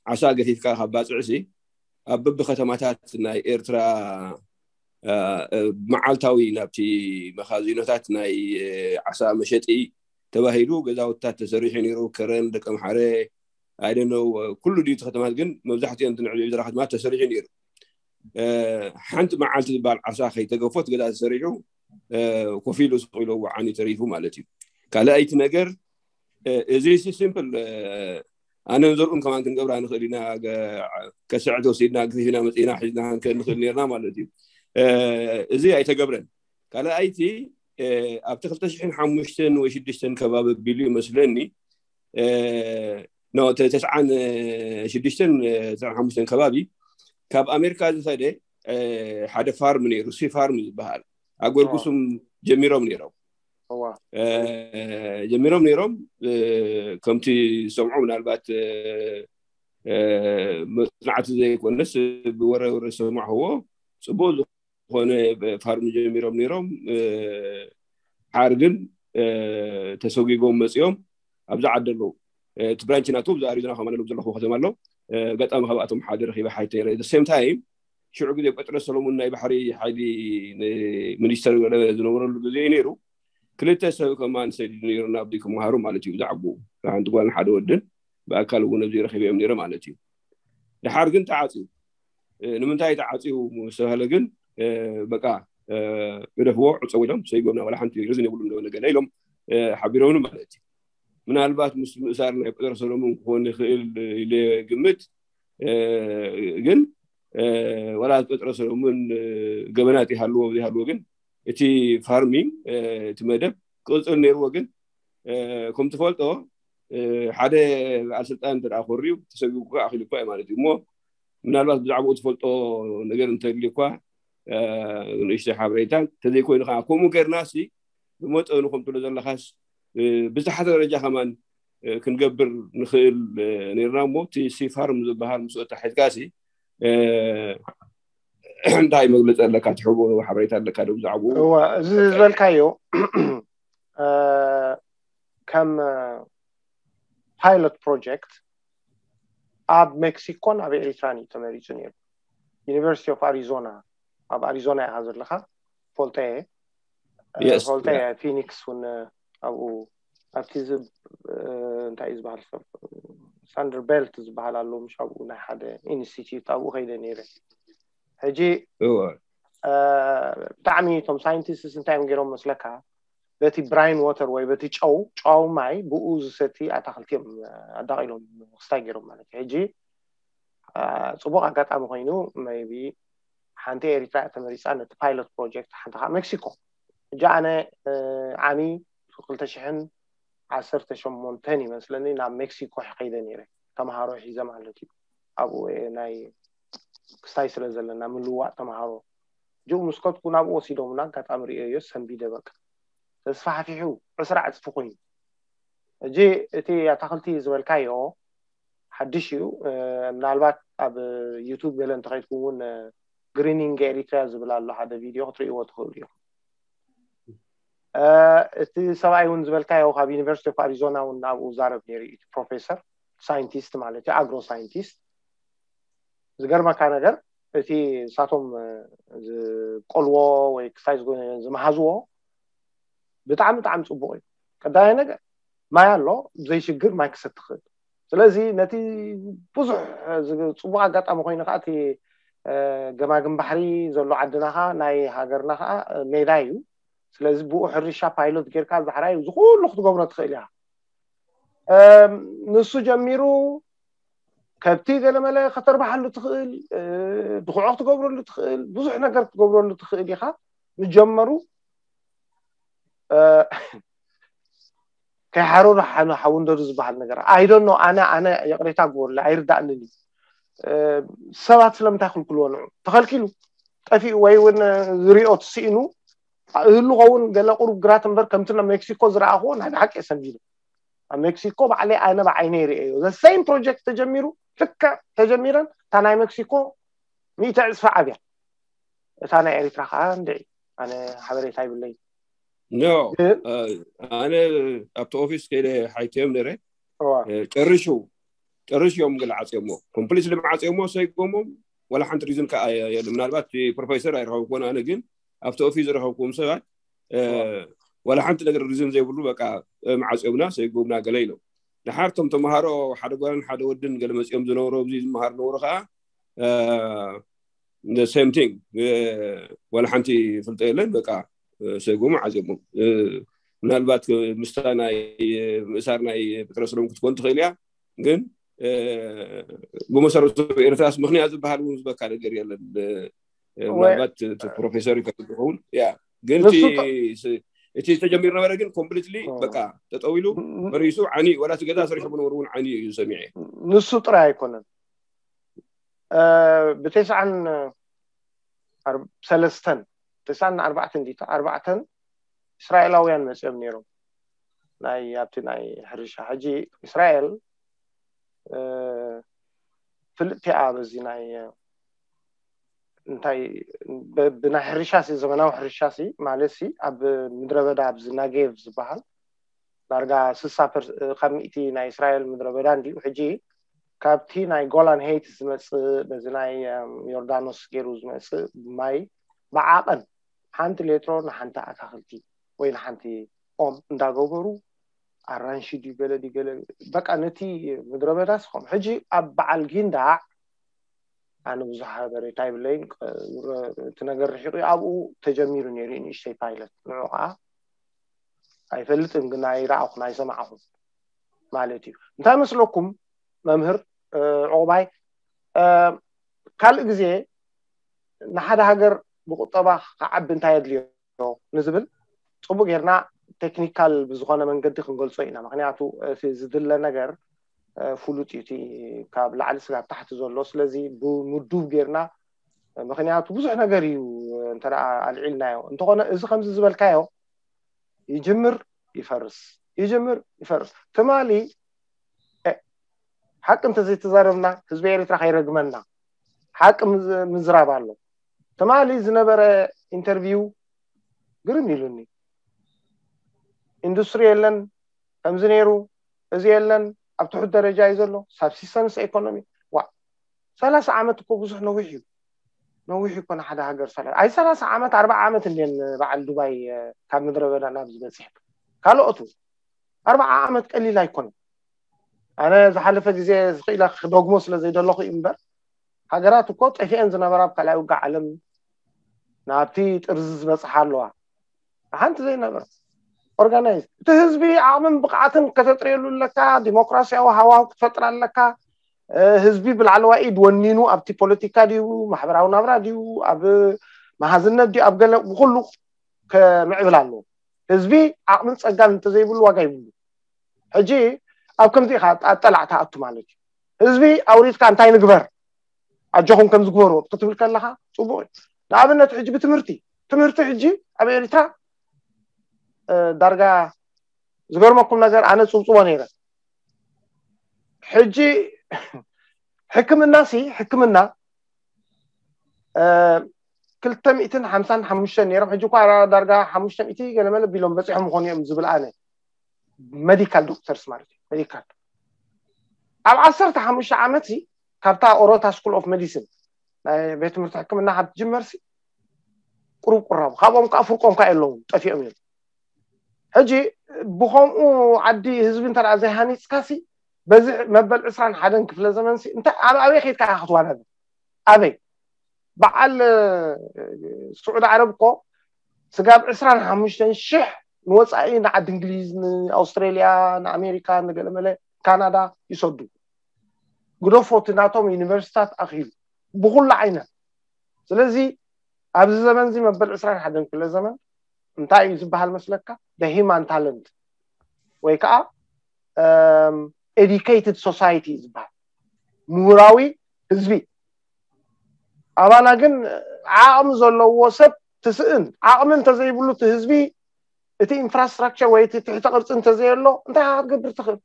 ዓሳ ገፊፍካ ካብ ባፅዕ ሲ ኣብ በቢ ከተማታት ናይ ኤርትራ መዓልታዊ ናብቲ መኻዚኖታት ናይ ዓሳ መሸጢ ተባሂሉ ገዛውትታት ተሰሪሑ ነይሩ ከረን ደቀምሓረ ኣይደነው ኩሉ ድዩ ከተማት ግን መብዛሕትኦም ንዕብዮ ዝራ ከተማት ተሰሪሑ ነይሩ ሓንቲ መዓልቲ ዝበሃል ዓሳ ከይተገፎት ገዛ ተሰሪሑ ኮፍ ኢሉ ስቕ ኢሉ ዓኒ ተሪፉ ማለት እዩ ካልኣይቲ ነገር እዚ ሲምፕል ኣነን ዘርኡን ከማን ክንገብራ ንኽእል ኢና ከስዕ ተወሲድና ግፊፍና መፅና ሒዝና ንኽእል ነርና ማለት እዩ እዚ ኣይተገብረን ካልኣይቲ ኣብቲ ክልተ ሽሕን ሓሙሽተን ወይ ሽዱሽተን ከባቢ ኣቢሉ ይመስለኒ ተስዓን ሽዱሽተን ተስዓን ሓሙሽተን ከባቢ ካብ ኣሜሪካ ዝኸደ ሓደ ፋርም ነይሩ ሲ ፋርም ዝበሃል ኣጎርጉሱም ጀሚሮም ነይሮም ጀሚሮም ነይሮም ከምቲ ዝሰምዖ ምናልባት መፅናዕቲ ዘይኮነስ ብወረ ወረ ዝሰማዕዎ ፅቡቅ ዝኾነ ፋርም ጀሚሮም ነይሮም ሓር ግን ተሰጒጎም መፂኦም ኣብዚ ዓዲ ኣለዉ እቲ ብራንች ናቱ ብዛ ኣሪዞና ከማን ኣለዉ ዘለኹ ከተማ ኣሎ ኣጋጣሚ ካብኣቶም ሓደ ረኪበ ሓይተ ሴም ታይም ሽዑ ግዜ ጴጥሮስ ሰሎሙን ናይ ባሕሪ ሓይሊ ሚኒስተር ዝነበረሉ ግዜ እዩ ነይሩ ክልተ ሰብ ከማን ሰዲዱ ነይሩ ናብዚ ክመሃሩ ማለት እዩ ብዛዕባኡ ሓንቲ ጓልን ሓደ ወድን ብኣካል እውን ኣብዚ ረኪበ እዮም ነይረ ማለት እዩ ድሓር ግን ተዓፅዩ ንምንታይ ተዓፅዩ ዝተባሃለ ግን በቃ ግደፍዎ ዕፀው ኢሎም ሰይጎምና ዋላ ሓንቲ ሪዝን የብሉም ዶ ነገር ኢሎም ሓቢሮምኒ ማለት እዩ ምናልባት ምስ ምእሳር ናይ ጴጥሮስ ሰሎሞን ክኾን ይኽእል ኢለ ግምት። ግን ወላ ጴጥሮስ ሰሎሞን ገበናት ይሃልዎ ዘይሃልዎ ግን እቲ ፋርሚንግ እቲ መደብ ክቕፅል ነይርዎ። ግን ከም ትፈልጦ ሓደ በዓል ስልጣን እንተ ኮርዩ ተሰጊጉ ኣኺሉ እኳ እዩ ማለት እዩ እሞ ምናልባት ብዛዕባኡ ትፈልጦ ነገር እንተልዩ እኳ ንእሽተይ ሓበሬታ እንተዘይኮይኑ ከዓ ከምኡ ገርና ሲ ብመጠኑ ከም ትብሎ ዘለኻስ ብዝተሓተ ደረጃ ከማን ክንገብር ንኽእል ነርና እሞ እቲ ሲፋርም ዝበሃል ምስ ኣታሒዝካ ሲ እንታይ መግለፂ ኣለካ ትሕቦ ሓበሬታ ኣለካ ዶ ብዛዕባኡ? እዋ እዚ ዝበልካዮ ከም ፓይሎት ፕሮጀክት ኣብ ሜክሲኮን ኣብ ኤሪትራን እዩ ተመሪፁ ነይሩ። ዩኒቨርሲቲ ኦፍ ኣሪዞና ኣብ ኣሪዞና ኢኻ ዘለኻ ፈልጠየ ፈልጠየ ፊኒክስ እውን ኣብኡ ኣብቲ እንታይ እዩ ዝበሃል ሳንደር ቤልት ዝበሃል ኣሎ ምሽ ኣብኡ ናይ ሓደ ኢንስቲትዩት ኣብኡ ከይደ ነይረ። ሕጂ ብጣዕሚ እቶም ሳይንቲስትስ እንታይ እዮም ገይሮም መስለካ በቲ ብራይን ወተር ወይ በቲ ጨው ጨዋዊ ማይ ብኡ ዝሰቲ ኣታክልቲ እዮም ኣዳቂሎም ክስታይ ገይሮም ማለት እዩ። ሕጂ ፅቡቅ ኣጋጣሚ ኮይኑ maybe ሓንቲ ኤሪትራ እያ ተመሪፃ ነቲ ፓይሎት ፕሮጀክት ሓንቲ ከዓ ሜክሲኮ። ሕጂ ኣነ ዓሚ ክልተ ሽሕን ዓሰርተ ሸሞንተን ይመስለኒ ናብ ሜክሲኮ ከይደ ነይረ ተምሃሮ ሒዘ ማለት እዩ። ኣብኡ ናይ ክስታይ ስለ ዘለና ምልዋጥ ተምሃሮ ጅኡ ምስ ከድኩ ናብኡ ወሲዶምና ኣጋጣሚ ርእዮዮ ሰንቢደ በቃ ተስፋሕፊሑ ዕስራ ዕፅፊ ኮይኑ። እጂ እቲ ኣታክልቲ ዝበልካዮ ሓድሽ እዩ። ምናልባት ኣብ ዩቱብ ገለ እንተኸይድኩም እውን ግሪኒንግ ኤሪትሪያ ዝብል ኣሎ ሓደ ቪድዮ ክትርእይዎ ትኽእሉ ኢኹም። እቲ ሰብኣይ እውን ዝበልካዮ ካብ ዩኒቨርሲቲ ኦፍ ኣሪዞና እውን ኣብኡ ዛረብ ነይሩ እዩ ፕሮፌሰር ሳይንቲስት ማለት እዩ ኣግሮ ሳይንቲስት። ዝገርመካ ነገር እቲ ንሳቶም ዝቆልዎ ወይ ክሳይ ዝመሃዝዎ ብጣዕሚ ብጣዕሚ ፅቡቅ እዩ። ቀዳማይ ነገር ማይ ኣሎ ብዘይሽግር ማይ ክሰቲ ትኽእል። ስለዚ ነቲ ብዙሕ ፅቡቅ ኣጋጣሚ ኮይኑ ከዓ እቲ ገማግም ባሕሪ ዘሎ ዓድና ከዓ ናይ ሃገርና ከዓ ሜዳ እዩ። ስለዚ ብኡ ሕርሻ ፓይሎት ጌርካ ባሕራይ እዚ ኩሉ ክትገብሮ ትኽእል ኢኻ። ንሱ ጀሚሩ ከብቲ ገለመለ ከተርባሓሉ ትኽእል፣ ድኹዖ ክትገብረሉ ትኽእል፣ ብዙሕ ነገር ክትገብረሉ ትኽእል ኢኻ። ምጀመሩ ከይሓረሩ ሓወንደዱ ዝበሃል ነገር ኣይደኖ ኣነ ኣነ ይቕሬታ ግበሩለ ኣይርዳእንን እዩ። ሰባት ስለምንታይ ክልክልዎ ንዑ ተኸልኪሉ ጠፊኡ ወይ እውን ዝሪኦ ትስኢኑ እህሉ ኸውን ገለ ቁሩብ ግራት እምበር ከምቲ ናብ ሜክሲኮ ዝረኣኽዎ ናይ ብሓቂ የሰንቢዱ። ኣብ ሜክሲኮ ባዕለይ ኣነ ብዓይነ ይርእዮ ዘ ሴም ፕሮጀክት ተጀሚሩ ልክዕ ተጀሚረን እታ ናይ ሜክሲኮ ሚእቲ ዕፅፊ ዓብያ እታ ናይ ኤሪትራ ከዓ እንድዒ ኣነ ሓበሬታ ይብለይ። ኖ ኣነ ኣብቲ ኦፊስ ከይደ ሓይተዮም ነረ ጨርሹ ጨርሽ እዮም ገለ ዓፅዮሞ ኮምፕሊት ልምዓፅዮሞ ሰይጎሞም ዋላ ሓንቲ ሪዝን ከዓ የለ ምናልባት ፕሮፌሰር ኣይረኸብኩን ኣነ ግን ኣብቲ ኦፊስ ዝረኸብኩም ሰባት ዋላ ሓንቲ ነገር ሪዝን ዘይብሉ በቃ መዓፅዮምና ሰይጎምና ገለ ኢሎም። ድሓር ቶም ተምሃሮ ሓደ ጓልን ሓደ ወድን ገለ መፅኦም ዝነበሩ ኣብዚ ዝመሃር ነበሩ ከዓ ሴም ቲንግ ዋላ ሓንቲ ፍልጠ የለን በቃ ሰይጎም ዓፅዮሞም። ምናልባት ምስታ ናይ ምእሳር ናይ ጴጥሮስ ሎም ክትኮን ትኽእል እያ ግን ብመሰረቱ ኤርትራስ ምክንያት ዝበሃል እውን ዝበካ ነገር የለን። ምናልባት ፕሮፌሰር ይከውን ያ ግን እቲ ተጀሚሩ ነበረ ግን ኮምፕሊትሊ በቃ ተጠዊሉ ፈሪሱ ዓኒ ወላ እቲ ገዛ ሰሪሖም ነበሩ እውን ዓኒ እዩ ሰሚዐ። ንሱ ጥራይ ኣይኮነን ብተስዓን ሰለስተን ተስዓን ኣርባዕተን ዲታ ኣርባዕተን እስራኤላውያን መፅኦም ነይሮም ናይ ኣብቲ ናይ ሕርሻ ሕጂ እስራኤል ፍልጥቲ እያ በዚ ናይ እንታይ ብናይ ሕርሻ ሲ ዘመናዊ ሕርሻ ሲ ማለት ሲ ኣብ ምድረ በዳ ኣብዚ ናጌቭ ዝበሃል ዳርጋ ስሳ ካብ ሚእቲ ናይ እስራኤል ምድረ በዳ እንዲዩ ሕጂ ካብቲ ናይ ጎላን ሄይት ዝመፅእ በዚ ናይ ዮርዳኖስ ገይሩ ዝመፅእ ማይ ብዓቐን ሓንቲ ሌትሮ ንሓንቲ ኣታክልቲ ወይ ንሓንቲ ኦም እንዳገበሩ ኣራንሺ ድዩ ገለ ድዩ ገለ በቃ ነቲ ምድረ በዳ ስኸም ሕጂ ኣብ በዓል ጊንዳዕ ኣነ ብዙሕ ሓበሬታ ይብለይን እቲ ነገር ርሒቑ ኣብኡ ተጀሚሩ ነይሩ ንእሽተይ ፓይለት ንዑ ከዓ ኣይፈልጥን ግን ኣይረኣኹን ኣይሰማዕኹን ማለት እዩ። እንታይ መስለኩም መምህር ዕቑባይ? ካልእ ግዜ ንሓደ ሃገር ብቁጠባ ክዓቢ እንታይ የድልዮ ንዝብል፣ ፅቡቅ ጌርና ቴክኒካል ብዝኾነ መንገዲ ክንገልጾ ኢና። ምክንያቱ እቲ ዝድለ ነገር ፍሉጥ እዩ፣ እቲ ካብ ላዕሊ ስጋብ ታሕቲ ዘሎ። ስለዚ ብምዱብ ጌርና፣ ምክንያቱ ብዙሕ ነገር እዩ እንተ ኣልዒልናዮ። እንተኾነ እዚ ከምዚ ዝበልካዮ ይጅምር ይፈርስ፣ ይጅምር ይፈርስ። ትማሊ ሓቂ እንተዘይተዛረብና ህዝቢ ኤርትራ ከይረግመና ሓቂ ምዝራብ ኣሎ። ትማሊ ዝነበረ ኢንተርቪው ግርም ኢሉኒ። ኢንዱስትሪ የለን፣ ከምዚ ነይሩ፣ እዚ የለን፣ ኣብ ትሑት ደረጃ እዩ ዘሎ። ሳብሲስተንስ ኢኮኖሚ፣ ዋ፣ ሰላሳ ዓመት እኮ ብዙሕ ነዊሕ እዩ። ነዊሕ እኮ ንሓደ ሃገር ሰላ-፣ ኣይ ሰላሳ ዓመት፣ ኣርባዓ ዓመት እንድየን በዓል ዱባይ ካብ ምድረ በዳ ናብ ዝበፅሕ። ካልኦቱ ኣርባዓ ዓመት ቀሊል ኣይኮነን። ኣነ ዝሓለፈ ግዜ ዝኽኢለ ክደግሞ ስለ ዘይደለኹ እዩ እምበር፣ ሃገራት እኮ ጠፊአን ዝነበራ ኣብ ካልኣይ ውግእ ዓለም ናብቲ ጥርዚ ዝበፅሓ ኣለዋ። ሓንቲ ዘይነበረ ኦርጋናይዝ፣ እቲ ህዝቢ ዓቕምን ብቕዓትን ከተጥርየሉ ኣለካ፣ ዲሞክራሲያዊ ሃዋው ክትፈጥር ኣለካ። ህዝቢ ብላዕለዋይ ኢድ ወኒኑ ኣብቲ ፖለቲካ ድዩ፣ ማሕበራዊ ናብራ ድዩ፣ ኣብ መሃዝነት ድዩ፣ ኣብ ገለ፣ ብኩሉ ከምዕብል ኣለዎ። ህዝቢ ዓቕምን ፀጋን እንተዘይብሉ ዋጋ ይብሉ። ሕጂ ኣብ ከምዚ ኢኻ ኣጠላዕ ትኣቱ ማለት እዩ። ህዝቢ ኣውሪድካ እንታይ ንግበር፣ ኣጆኹም ከምዚ ግበሩ ክትብል ከለኻ ፅቡቅ እዩ። ንኣብነት ሕጂ ብትምህርቲ፣ ትምህርቲ ሕጂ ኣብ ኤርትራ ዳርጋ፣ ዝገርመኩም ነገር፣ ኣነ ፅብፅቦ ነይረ። ሕጂ ሕክምና ሲ ሕክምና ክልተ ሚእትን ሓምሳን ሓሙሽተን ነይሮም። ሕጂ እኳ ዳርጋ ሓሙሽተ ሚእቲ ገለመለ ቢሎም በፂሖም ምኾኑ እዮም ዝብል ኣነ፣ ሜዲካል ዶክተርስ ማለት እዩ። ሜዲካል ኣብ ዓሰርተ ሓሙሽተ ዓመት ሲ ካብታ ኦሮታ ስኩል ኦፍ ሜዲሲን ናይ ቤት ትምህርቲ ሕክምና ካብ ትጅመር ሲ ቁሩብ ቁራቡ ካብኦም ከዓ ፍርቆም ከዓ የለውን፣ ጠፊኦም እዮም። ሕጂ ብኸምኡ ዓዲ ህዝቢ እንተ ዘይሃኒፅካ ሲ በዚ መበል ዕስራን ሓደን ክፍለ ዘመን ሲ እንታይ ኣብ ኣበይ ከይድካ ኢኻ ክትዋዳደር? ኣበይ በዓል ስዑዲ ዓረብ እኮ ስጋብ ዕስራን ሓሙሽተን ሽሕ ንወፃኢ ንዓዲ እንግሊዝ፣ ንኣውስትራሊያ፣ ንኣሜሪካ፣ ንገለመለ ካናዳ ይሰዱ። ግደፎ እቲ ናቶም ዩኒቨርሲታት ኣኽኢሉ ብኩሉ ዓይነት። ስለዚ ኣብዚ ዘመን እዚ መበል ዕስራን ሓደን ክፍለ ዘመን እንታይ እዩ ዝበሃል መስለካ? ደ ሂማን ታለንት ወይ ከዓ ኤዱኬትድ ሶሳይቲ ዝበሃል ምሁራዊ ህዝቢ። ኣባና ግን ዓቕሚ ዘለዎ ሰብ ትስእን። ዓቕሚ እንተዘይብሉ እቲ ህዝቢ፣ እቲ ኢንፍራስትራክቸር ወይ እቲ ትሕተ ቅርፂ እንተዘየሎ እንታይ ክትገብር ትኽእል?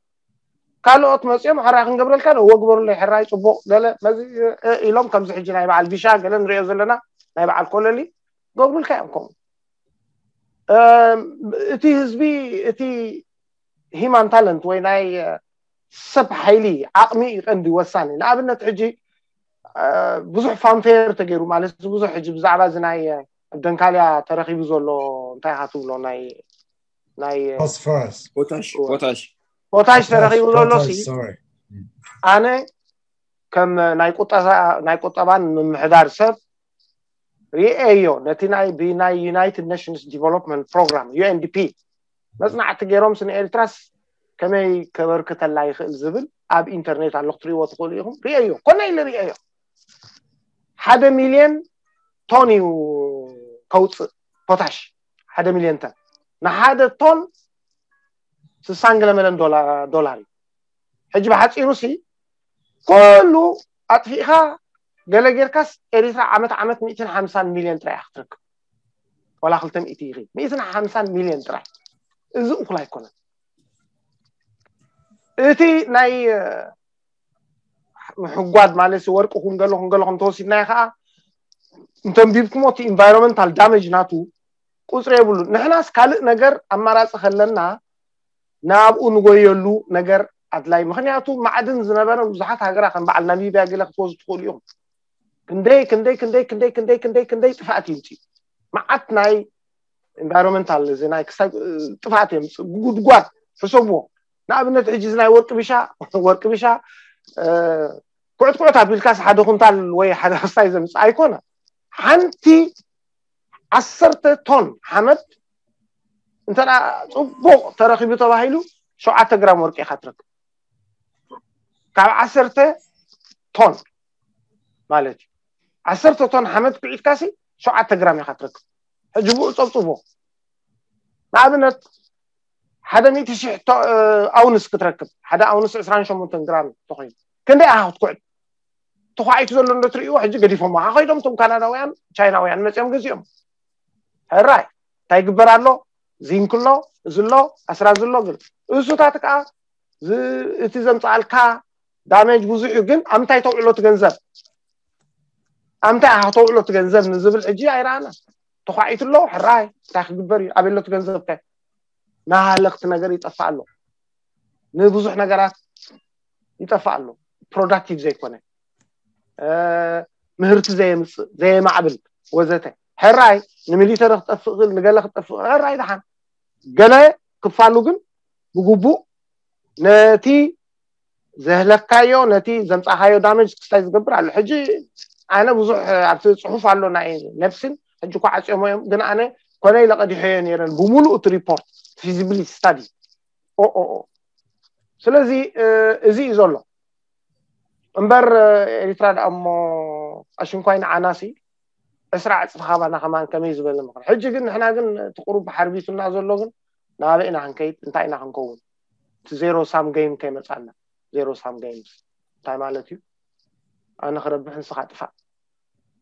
ካልኦት መፂኦም ሕራይ ክንገብረልካ ዶ ወግበሩለይ ሕራይ ፅቡቅ ገለ መዚ ኢሎም ከምዚ ሕጂ ናይ በዓል ቢሻ ገለ ንሪኦ ዘለና ናይ በዓል ኮለሊ ገብሩልካ እዮም። ከምኡ እቲ ህዝቢ እቲ ሂማን ታለንት ወይ ናይ ሰብ ሓይሊ ዓቕሚ እዩ ቀንዲ ወሳኒ። ንኣብነት ሕጂ ብዙሕ ፋንፌር ተገይሩ ማለት ብዙሕ ሕጂ ብዛዕባ እዚ ናይ ደንካልያ ተረኺቡ ዘሎ እንታይ ኢኻ ትብሎ ናይ ናይ ፎስፈረስ ፖታሽ ፖታሽ ፖታሽ ተረኺቡ ዘሎ ሲ ሶሪ ኣነ ከም ናይ ቁጠባ ናይ ቁጠባን ምምሕዳር ሰብ ሪኤዮ ነቲ ናይ ብናይ ዩናይትድ ኔሽንስ ዲቨሎፕመንት ፕሮግራም ዩ ኤን ዲ ፒ መፅናዕቲ ገይሮም ስነ ኤርትራስ ከመይ ከበርክተላ ይኽእል ዝብል ኣብ ኢንተርኔት ኣሎ ክትሪእዎ ትኽእሉ ኢኹም። ሪኤዮ ኮነ ኢለ ሪኤዮ ሓደ ሚልዮን ቶን እዩ ከውፅእ ፖታሽ ሓደ ሚልዮን ቶን ንሓደ ቶን ስሳን ገለመለን ዶላር እዩ። ሕጂ ብሓፂሩ ሲ ኩሉ ኣጥፊእካ ገለ ጌርካስ ኤሪትራ ዓመት ዓመት ሚእትን ሓምሳን ሚልዮን ጥራይ ክትረክብ ዋላ ክልተ ሚእቲ ይኺ ሚእትን ሓምሳን ሚልዮን ጥራይ እዚ እኩል ኣይኮነን። እቲ ናይ ምሕጓድ ማለት ወርቂ ኩን ገለ ኩን ገለ ኩን ተወሲድናዮ ከዓ እንተንቢብኩሞ እቲ ኢንቫይሮንመንታል ዳሜጅ ናቱ ቁፅሪ የብሉን። ንሕናስ ካልእ ነገር ኣማራፂ ከለና ናብኡ ንጎየሉ ነገር ኣድላይ። ምክንያቱ ማዕድን ዝነበረ ብዙሓት ሃገራ ከም በዓል ናሚብያ ገለ ክትወስዱ ትኽእሉ ኢኹም። ክንደይ ክንደይ ክንደይ ክንደይ ክንደይ ክንደይ ክንደይ ጥፍኣት ይምፅእ። መዓት ናይ ኢንቫይሮንመንታል እዚ ናይ ክሳብ ጥፍኣት የምፅእ። ጉድጓድ ሕሰብዎ። ንኣብነት ሕጂ እዚ ናይ ወርቂ ቢሻ ወርቂ ቢሻ ኩዕት ኩዕት ኣቢልካስ ሓደ ኩንታል ወይ ሓደ ክስታይ ዘምፅእ ኣይኮነ። ሓንቲ ዓሰርተ ቶን ሓመድ እንተ ፅቡቅ ተረኪቡ ተባሂሉ ሸውዓተ ግራም ወርቂ ኢካ ትረክብ። ካብ ዓሰርተ ቶን ማለት እዩ። ዓሰርተ ቶን ሓመድ ኩዒትካሲ ሸውዓተ ግራም ኢኻ ትረክብ። ሕጂ ብኡ ጸብጽቦ። ንኣብነት ሓደ ሚእቲ ሺሕ ኣውንስ ክትረክብ፣ ሓደ ኣውንስ ዕስራን ሸሞንተን ግራም ተኾይኑ ክንደይ ኢኻ ክትኩዕት? ተኳዒቱ ዘሎ እንዶ ትርእይዎ ሕጂ ገዲፎሞ። ኣኸይዶም እቶም ካናዳውያን ቻይናውያን መፅኦም ገዚኦም። ሕራይ እንታይ ይግበር ኣሎ? ዚንክ ኣሎ፣ እዚ ኣሎ፣ ኣስራዚ ኣሎ። ግን እሱታት ከዓ እቲ ዘምፃኣልካ ዳሜጅ ብዙሕ እዩ። ግን ኣብ ምንታይ ተውዕሎ እቲ ገንዘብ? ኣብ ምንታይ ኣኻ ተውዕሎ እቲ ገንዘብ ንዝብል ሕጂ ኣይረኣና። ተኳዒቱ ኣሎ፣ ሕራይ እንታይ ክግበር እዩ? ኣበሎ እቲ ገንዘብ ከ? ናሃለኽቲ ነገር ይጠፋ ኣሎ። ንብዙሕ ነገራት ይጠፋ ኣሎ። ፕሮዳክቲቭ ዘይኮነ፣ ምህርቲ ዘየምፅእ፣ ዘየማዕብል፣ ወዘተ። ሕራይ ንሚሊተሪ ክጠፍእ ክእል፣ ንገለ ክጠፍእ፣ ሕራይ ደሓን። ገለ ክፋሉ ግን ብግቡእ ነቲ ዘህለካዮ፣ ነቲ ዘምፃኻዮ ዳሜጅ ክስታይ ዝገብር ኣሎ። ሕጂ ኣነ ብዙሕ ኣብቲ ፅሑፍ ኣሎ ናይ ነብስን፣ ሕጂ እኳ ዓፅዮሞ እዮም፣ ግን ኣነ ኮነ ኢለ ቀዲሖዮ ነይረን ብምሉእ እቲ ሪፖርት ፊዚቢሊቲ ስታዲ። ኦ ኦ ኦ። ስለዚ እዚ እዩ ዘሎ እምበር፣ ኤሪትራ ደኣ እሞ ኣሽንኳይ ንዓናሲ ዕስራ ዕፅፊ ካባና ከማን ከመይ ዝበለ ምኽሪ። ሕጂ ግን ንሕና ግን እቲ ቁሩብ ሓርቢቱና ዘሎ ግን ናበይ ኢና ክንከይድ፣ እንታይ ኢና ክንከውን? እቲ ዜሮ ሳም ገይም ከይመፃና። ዜሮ ሳም ገይምስ እንታይ ማለት እዩ? ኣነ ክረብሕ ንስኻ ጥፋእ።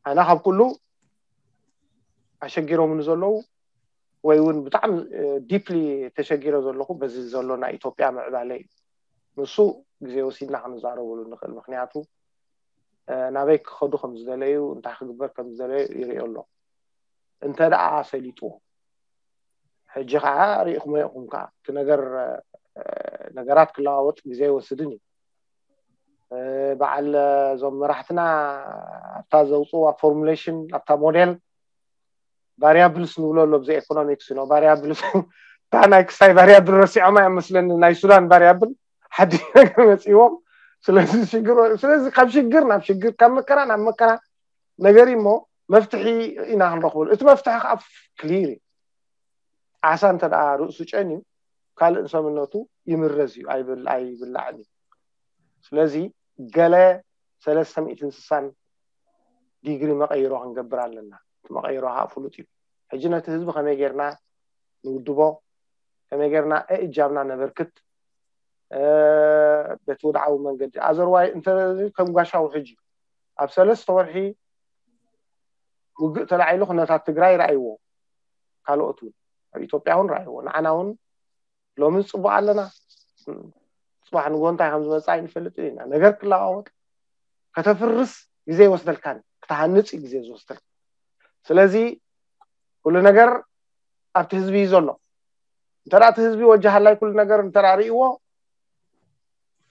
ኣነ ካብ ኩሉ ኣሸጊሮምኒ ዘለዉ ወይ እውን ብጣዕሚ ዲፕሊ ተሸጊረ ዘለኹ በዚ ዘሎ ናይ ኢትዮጵያ ምዕባለ እዩ። ንሱ ግዜ ወሲድና ክንዛረበሉ ንኽእል። ምክንያቱ ናበይ ክኸዱ ከም ዝደለዩ፣ እንታይ ክግበር ከም ዝደለዩ ይርእዮ ኣሎ። እንተ ደኣ ሰሊጥዎ ሕጂ ከዓ ርኢኹሞ ኢኹም። ከዓ እቲ ነገር ነገራት ክለዋወጥ ግዜ ይወስድን እዩ። በዓል እዞም መራሕትና ኣብታ ዘውፅዋ ፎርሙሌሽን፣ ኣብታ ሞዴል ቫሪያብልስ ንብሎ ኣሎ ብዘይ ኤኮኖሚክስ ነው። ቫሪያብልስ እታ ናይ ክሳይ ቫሪያብል ረሲዖማ እዮም መስለኒ፣ ናይ ሱዳን ቫሪያብል ሓድሽ ነገር መፂዎም። ስለዚ ሽግር፣ ስለዚ ካብ ሽግር ናብ ሽግር፣ ካብ መከራ ናብ መከራ ነገር እሞ መፍትሒ ኢና ክንረኽበሉ። እቲ መፍትሒ ከዓ ክሊር እዩ። ዓሳ እንተ ደኣ ርእሱ ጨንዩ ካልእ ንሰምነቱ ይምረዝ እዩ፣ ኣይብል-፣ ኣይብላዕን እዩ። ስለዚ ገለ ሰለስተ ሚእትን ስሳን ዲግሪ መቐይሮ ክንገብር ኣለና። እቲ መቐይሮ ከዓ ፍሉጥ እዩ። ሕጂ ነቲ ህዝቢ ከመይ ጌርና ንውድቦ፣ ከመይ ጌርና እእጃምና ነበርክት በቲ ውድዓዊ መንገዲ። ኣዘርዋይ እንተ ከም ጓሻ ውሕጅ እዩ። ኣብ ሰለስተ ወርሒ ውግእ ተላዒሉ ኩነታት ትግራይ ረኣይዎ፣ ካልኦት እውን ኣብ ኢትዮጵያ እውን ረኣይዎ። ንዓና እውን ሎሚ ንፅቡቕ ኣለና፣ ፅባሕ ንጎ እንታይ ከም ዝመፅእ ኣይንፈልጥን ኢና። ነገር ክለዋወጥ፣ ከተፍርስ ግዜ ይወስደልካን ክትሃንፅ እዩ ግዜ ዝወስደልካ። ስለዚ ኩሉ ነገር ኣብቲ ህዝቢ እዩ ዘሎ። እንተ እቲ ህዝቢ ወጃሃላይ ኩሉ ነገር እንተ ርእይዎ፣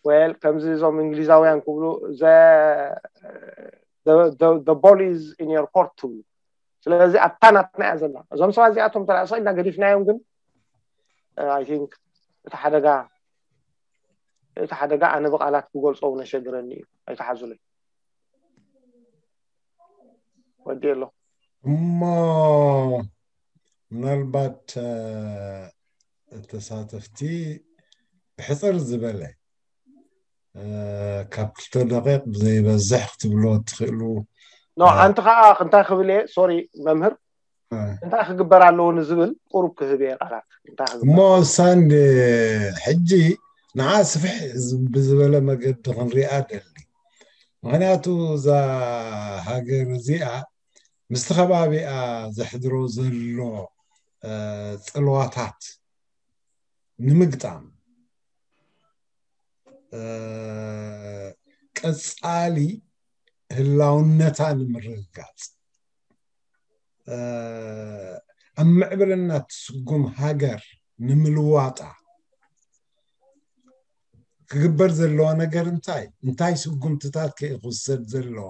ወል ከምዚ እዞም እንግሊዛውያን ክብሉ the ball is in your court ትብሉ። ስለዚ ኣብታ ናትና እያ ዘላ። እዞም ሰባት እዚኣቶም ተላእሶ ኢልና ገዲፍናዮም፣ ግን I think እቲ ሓደጋ እቲ ሓደጋ ኣነ ብቃላት ክገልፆ እውን ኣሸግረኒ እዩ። ኣይተሓዙለይ። ወዲ ኣሎ። እሞ ምናልባት ተሳተፍቲ ብሕፅር ዝበለ ካብ ክልተ ደቂቕ ብዘይበዝሕ ክትብሎ ትኽእሉ። ኖ ሓንቲ ከዓ እንታይ ክብል እየ፣ ሶሪ መምህር፣ እንታይ ክግበር ኣለዎ ንዝብል ቁሩብ ክህብ እየ ቃላት። እንታይ ክግበር እሞ ሳንድ ሕጂ ንዓ ስፍሕ ብዝበለ መገዲ ክንሪኣ ደሊ። ምክንያቱ እዛ ሃገር እዚኣ ምስቲ ከባቢኣ ዘሕድሮ ዘሎ ፅልዋታት ንምግጣም፣ ቀፃሊ ህላውነታ ንምርግጋፅ፣ ኣብ ምዕብልና ትስጉም ሃገር ንምልዋጣ ክግበር ዘለዎ ነገር እንታይ? እንታይ ስጉምትታት ከ ክውሰድ ዘለዎ?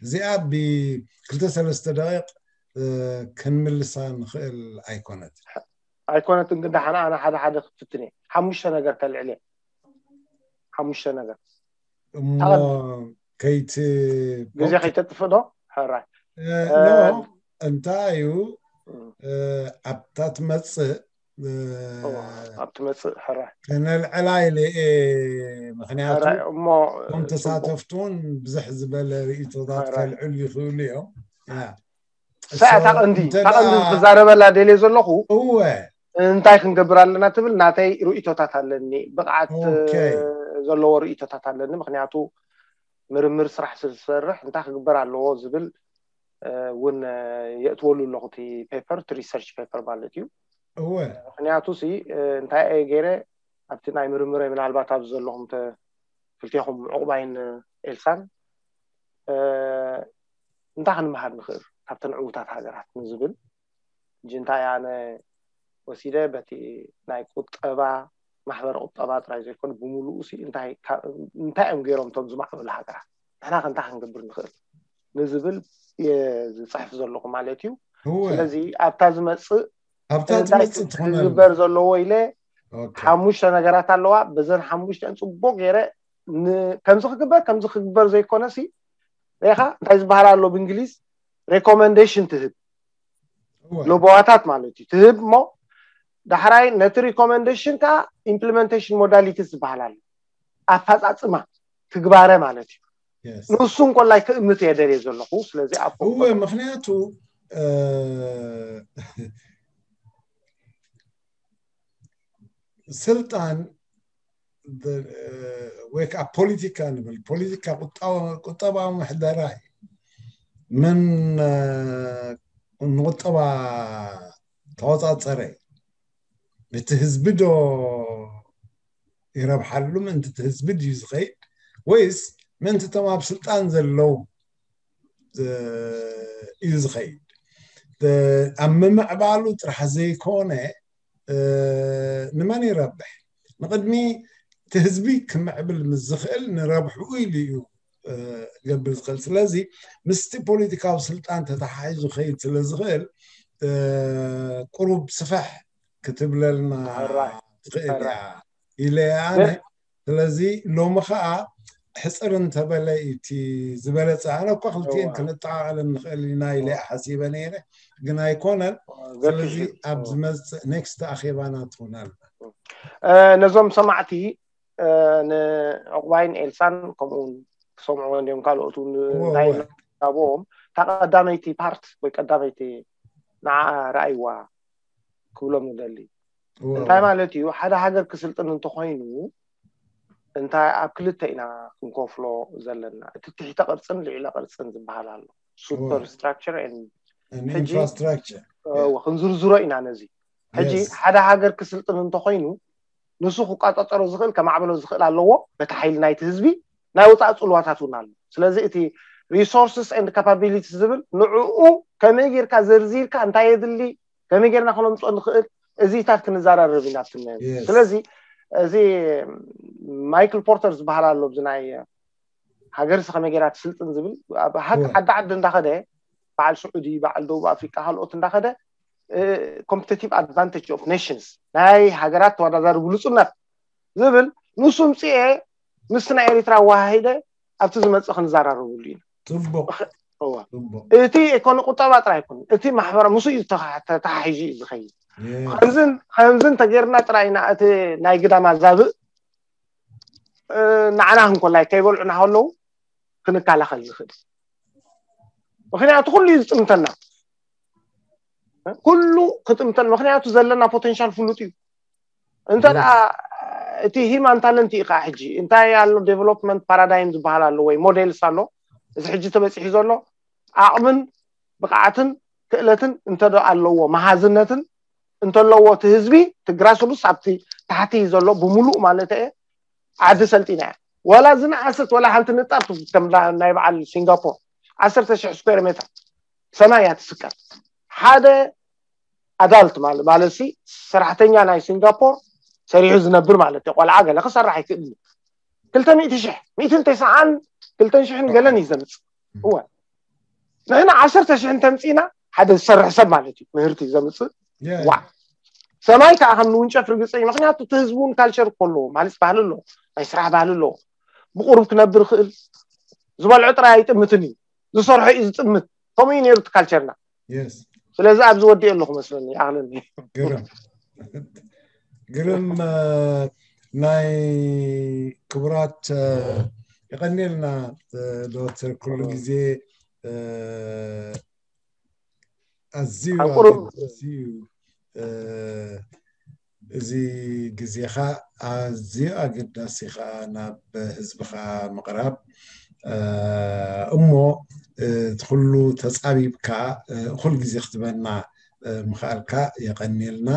እዚኣ ብክልተ ሰለስተ ደቂቕ ክንምልሳ ንኽእል ኣይኮነትን። ኣይኮነትን፣ ግን ደሓን ኣነ ሓደ ሓደ ክፍትን እየ። ሓሙሽተ ነገር ከልዕል እየ። ሓሙሽተ ነገር። እሞ ከይቲ ግዜ ከይተጥፍእ ዶ? ሕራይ። እንታይ እዩ ኣብታ ትመፅእ ኣብ ትመፅእ ሕራይ ከነልዕላ ኢለ እየ። ምክንያቱ እሞ እቶም ተሳተፍቲ እውን ብዝሕ ዝበለ ርእቶታት ከልዕሉ ይኽእሉ እዮም። እታ ቀንዲ እታ ቀንዲ ክዛረበላ ደልየ ዘለኹ እወ እንታይ ክንገብር ኣለና ትብል ናተይ ርእቶታት ኣለኒ። ብቕዓት ዘለዎ ርእቶታት ኣለኒ። ምክንያቱ ምርምር ስራሕ ስዝሰርሕ እንታይ ክግበር ኣለዎ ዝብል እውን የእትወሉ ኣለኹ። እቲ ፔፐር እቲ ሪሰርች ፔፐር ማለት እዩ። እወ ምክንያቱ ሲ እንታይ እየ ገይረ ኣብቲ ናይ ምርምረይ ምናልባት ኣብዚ ዘለኹም ክልቴኹም ዕቑባይን ኤልሳን እንታይ ክንመሃር ንኽእል ካብተን ዕዉታት ሃገራት ንዝብል ሕጂ እንታይ ኣነ ወሲደ በቲ ናይ ቁጠባ ማሕበረ ቁጠባ ጥራይ ዘይኮነ ብምሉኡ ሲ እንታይ እዮም ገይሮም እቶም ዝማዕበሉ ሃገራት ንሕና ከ እንታይ ክንገብር ንኽእል ንዝብል እየ ዝፅሕፍ ዘለኹ ማለት እዩ። ስለዚ ኣብታ ዝመፅእ ኣብታ ዝመፅእ ትኾነሉ ክግበር ዘለዎ ኢለ ሓሙሽተ ነገራት ኣለዋ። በዘን ሓሙሽተን ፅቡቅ ገይረ ከምዚ ክግበር ከምዚ ክግበር ዘይኮነ ሲ ሪኢኻ እንታይ ዝበሃል ኣሎ ብእንግሊዝ recommendation ትህብ ለቦዋታት ማለት እዩ ትህብ እሞ ዳሕራይ ነቲ recommendation ከዓ implementation modalities ዝበሃል ኣሎ ኣፈፃፅማ ትግባረ ማለት እዩ። ንሱ እንኮላይ ክእምት እየ ደልየ ዘለኹ። ስለዚ ኣብ እወ ምክንያቱ ስልጣን ወይ ከዓ ፖለቲካ ንብል ፖለቲካ ቁጠባዊ ምሕደራ እዩ። መን ንቁጠባ ተቆፃፀረ እቲ ህዝቢ ዶ ይረብሓሉ ምእንቲ እቲ ህዝቢ ድዩ ዝኸይድ ወይስ ምእንቲ እቶም ኣብ ስልጣን ዘለዉ እዩ ዝኸይድ? ኣብ ምምዕባሉ ጥራሕ ዘይኮነ ንመን ይረብሕ? ንቕድሚ እቲ ህዝቢ ክምዕብል ምስ ዝኽእል ንረብሕኡ ኢሉ እዩ ክገብር ዝኽእል። ስለዚ ምስቲ ፖለቲካዊ ስልጣን ተተሓሒዙ ኸይድ ስለ ዝኽእል ቁሩብ ስፍሕ ክትብለልና ትኽእል እያ ኢለ ኣነ። ስለዚ ሎሚ ኸዓ ሕፅር እንተበለ እቲ ዝበለፀ ኣነ እኳ ክልቲኤን ክንጠቓቐለን ንኽእል ኢና ኢለ ሓሲበ ነይረ ግን ኣይኮነን። ስለዚ ኣብ ዝመፅእ ኔክስት ኣኼባና ትኾን ኣላ። ነዞም ሰማዕቲ ንዕቑባይን ኤልሳን ከምኡውን ክሰምዕዎ እንዲዮም ካልኦት እንታይ ናብኦም እታ ቀዳመይቲ ፓርት ወይ ቀዳመይቲ ንዓ ረኣይዋ ክብሎም ንደሊ እንታይ ማለት እዩ ሓደ ሃገር ክስልጥን እንተኮይኑ እንታይ ኣብ ክልተ ኢና ክንከፍሎ ዘለና እቲ ትሕተ ቅርፅን ልዕለ ቅርፅን ዝበሃል ኣሎ super structure infrastructure ክንዝርዝሮ ኢና ነዚ ሕጂ ሓደ ሃገር ክስልጥን እንተኮይኑ ንሱ ክቋፃፀሮ ዝኽእል ከማዕበሎ ዝኽእል ኣለዎ በቲ ሓይሊ ናይቲ ህዝቢ ናይ ወፃኢ ፅልዋታት እውን ኣሎ ስለዚ እቲ resources and capabilities ዝብል ንዕኡ ከመይ ጌርካ ዘርዚርካ እንታይ የድሊ ከመይ ጌርና ክነምፅኦ ንኽእል እዚታት ክንዘራረብ ኢና ኣብቲ ስለዚ እዚ ማይክል ፖርተር ዝበሃል ኣሎ ኣብዚ ናይ ሃገርሲ ከመይ ጌራ ትስልጥን ዝብል ኣብ ሃግ ዓዲ ዓዲ እንዳኸደ በዓል ስዑዲ በዓል ደቡብ ኣፍሪቃ ካልኦት እንዳኸደ competitive advantage of nations ናይ ሃገራት ተወዳዳሪ ብሉፅነት ዝብል ንሱ ምፅኤ ምስቲ ናይ ኤሪትራ ኣወሃሂደ ኣብቲ ዝመፅእ ክንዘራረብሉ ኢና ፅቡቅ እቲ ኢኮኖ ቁጠባ ጥራይ ኣይኮነ እቲ ማሕበራ ምስ እዩ ተተሓሒዙ እዩ ዝኸይድ ከምዝን ተጌርና ጥራይ ኢና እቲ ናይ ግዳማ ዛብእ ንዓና ክንኮላይ ከይበልዑና ከለዉ ክንከላኸል ዝኽእል ምክንያቱ ኩሉ እዩ ዝጥምተና ኩሉ ክጥምተን ምክንያቱ ዘለና ፖቴንሻል ፍሉጥ እዩ እንተ እቲ ሂማን ታለንት እዩ ከዓ ሕጂ እንታይ ኣሎ ዴቨሎፕመንት ፓራዳይም ዝበሃል ኣሎ ወይ ሞዴልስ ኣሎ እዚ ሕጂ ተበፂሑ ዘሎ ዓቕምን ብቕዓትን ክእለትን እንተዶ ኣለዎ መሃዝነትን እንተለዎ እቲ ህዝቢ እቲ ግራስሩስ ኣብቲ ታሕቲ ዘሎ ብምሉእ ማለት እየ ዓዲ ሰልጢና እያ ወላ ዝነኣሰት ወላ ሓንቲ ንጣብ ትውስድ ከም ናይ በዓል ሲንጋፖር ዓሰርተ ሽሕ ስኩዌር ሜትር ሰማይ እያ ትስቀል ሓደ ኣዳልት ማለት ማለት ሲ ሰራሕተኛ ናይ ሲንጋፖር ሰሪሑ ዝነብር ማለት እዩ ቆልዓ ገለ ክሰራሕ ይክእል እዩ ክልተ ሚእቲ ሽሕ ሚእትን ተስዓን ክልተን ሽሕን ገለን እዩ ዘምፅእ እወ ንሕና ዓሰርተ ሽሕ እንተምፅእና ሓደ ዝሰርሕ ሰብ ማለት እዩ ምህርቲ እዩ ዘምፅእ ዋ ሰማይ ከዓ ከም ንውንጨፍ ርግፀ እዩ ምክንያቱ እቲ ህዝቢ እውን ካልቸር እኮ ኣለዎ ማለት ባህሊ ኣለዎ ናይ ስራሕ ባህሊ ኣለዎ ብቁሩብ ክነብር ይኽእል ዝበልዖ ጥራይ ኣይጥምትን እዩ ዝሰርሖ እዩ ዝጥምት ከምኡ እዩ ነይሩ እቲ ካልቸርና ስለዚ ኣብዚ ወዲኦ ኣለኹ መስለኒ ይኣኽለኒ ግርም። ናይ ክቡራት፣ የቐንየልና ዶክተር፣ ኩሉ ግዜ ኣዝዩ ኣገዳሲ እዩ። እዚ ግዜኻ ኣዝዩ ኣገዳሲ ኸዓ ናብ ህዝብኻ ምቕራብ እሞ እቲ ኩሉ ተፃቢብካ እኹል ግዜ ክትበና ምኽኣልካ የቐንየልና።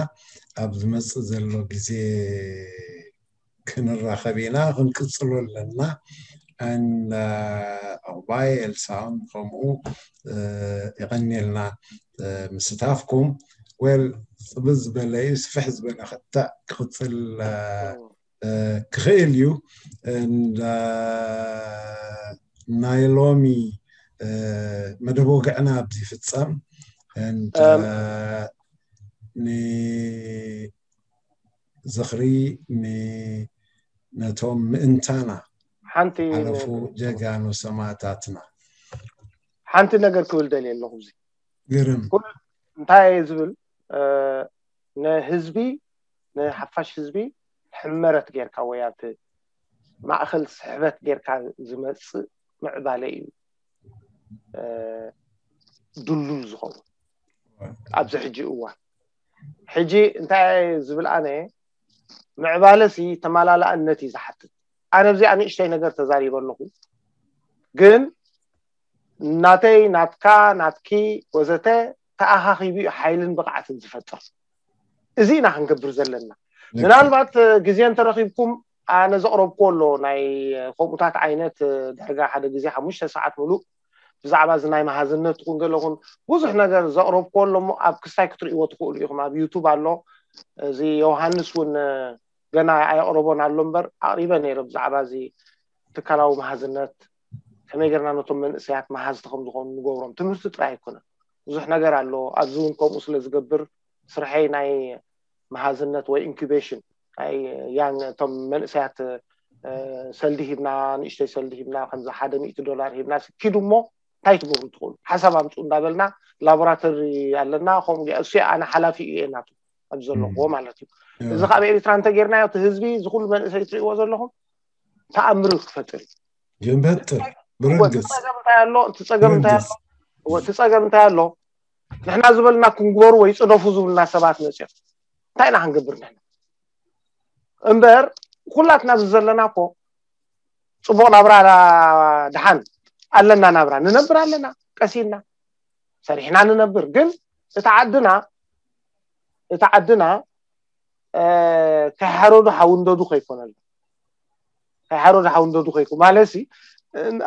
ኣብ ዝመፅእ ዘሎ ግዜ ክንራኸብ ኢና፣ ክንቅፅሎ ኣለና። And ዕቑባይ ኤልሳውን ከምኡ የቐንየልና ምስታፍኩም። ወል ፅብዝ ዝበለ እዩ፣ ስፍሕ ዝበለ ክትዕ ክቕፅል ክኽእል እዩ። And ናይ ሎሚ መደብ ወግዕና ኣብዚ ይፍፀም። And ንዝኽሪ ነቶም ምእንታና ሓንቲ ሓለፉ ጀጋኑ ሰማእታትና። ሓንቲ ነገር ክብል ደልየ ኣለኹ። እዚ ግርም እንታይ እየ ዝብል፣ ንህዝቢ፣ ንሓፋሽ ህዝቢ ሕመረት ጌርካ ወይ ኣብቲ ማእኸል ስሕበት ጌርካ ዝመፅእ ምዕባለ እዩ ድሉል ዝኸውን ኣብዚ ሕጂ እዋን። ሕጂ እንታይ ዝብል ኣነ፣ ምዕባለሲ ተመላላእነት እዩ ዝሓትት። ኣነ ኣብዚኣ ንእሽተይ ነገር ተዛሪበ ኣለኹ፣ ግን ናተይ፣ ናትካ፣ ናትኪ ወዘተ ተኣኻኺቡ እዩ ሓይልን ብቕዓትን ዝፈጥር። እዚ ኢና ክንገብር ዘለና። ምናልባት ግዜ እንተረኺብኩም ኣነ ዘቕረብኩዎ ኣሎ፣ ናይ ከምኡታት ዓይነት ዳርጋ ሓደ ግዜ ሓሙሽተ ሰዓት ሙሉእ ብዛዕባ እዚ ናይ መሃዝነት ትኹን ገለ ኹን ብዙሕ ነገር ዘቕረብኩዎ ኣሎ እሞ ኣብ ክስታይ ክትርእይዎ ትኽእሉ ኢኹም። ኣብ ዩቱብ ኣሎ። እዚ ዮሃንስ እውን ገና ኣየቕረቦን ኣሎ እምበር ኣቕሪበ ነይረ ብዛዕባ እዚ ትካላዊ መሃዝነት፣ ከመይ ጌርና ነቶም መንእሰያት መሃዝቲ ከም ዝኾኑ ንገብሮም። ትምህርቲ ጥራይ ኣይኮነን፣ ብዙሕ ነገር ኣሎ። ኣብዚ እውን ከምኡ ስለ ዝገብር ስርሐይ ናይ መሃዝነት ወይ ኢንኩቤሽን ናይ ያንግ፣ እቶም መንእሰያት ሰልዲ ሂብና፣ ንእሽተይ ሰልዲ ሂብና፣ ከምዚ ሓደ ሚእቲ ዶላር ሂብና ሲ ኪዱ እሞ እንታይ ትገብሩ ትኽእሉ ሓሳብ ኣምፁ እንዳበልና ላቦራቶሪ ኣለና። ከምኡ እሱ ኣነ ሓላፊ እየ ናቱ ኣብዚ ዘለኹዎ ማለት እዩ። እዚ ካብ ኤርትራ እንተጌርናዮ እቲ ህዝቢ፣ እዚ ኩሉ መንእሰይ ትሪእዎ ዘለኹም ተኣምር ክፈጥር እዩ። ይፈጥር። ብርግፅ። እቲ ፀገም እንታይ ኣሎ? እቲ ፀገም እንታይ ኣሎ? እወ፣ እቲ ፀገም እንታይ ኣሎ? ንሕና ዝበልና ክንግበሩ ወይ ፅደፉ ዝብሉና ሰባት መፅዮም እንታይ ኢና ክንገብር ንሕና? እምበር ኩላትና ኣብዚ ዘለና እኮ ፅቡቕ ናብራ ድሓን ኣለና፣ ናብራ ንነብር ኣለና፣ ቀሲልና ሰሪሕና ንነብር። ግን እቲ ዓድና፣ እቲ ዓድና ከይሓረዱ ሓውንደዱ ከይኮነሉ፣ ከይሓረዱ ሓውንደዱ ከይኮ ማለትሲ፣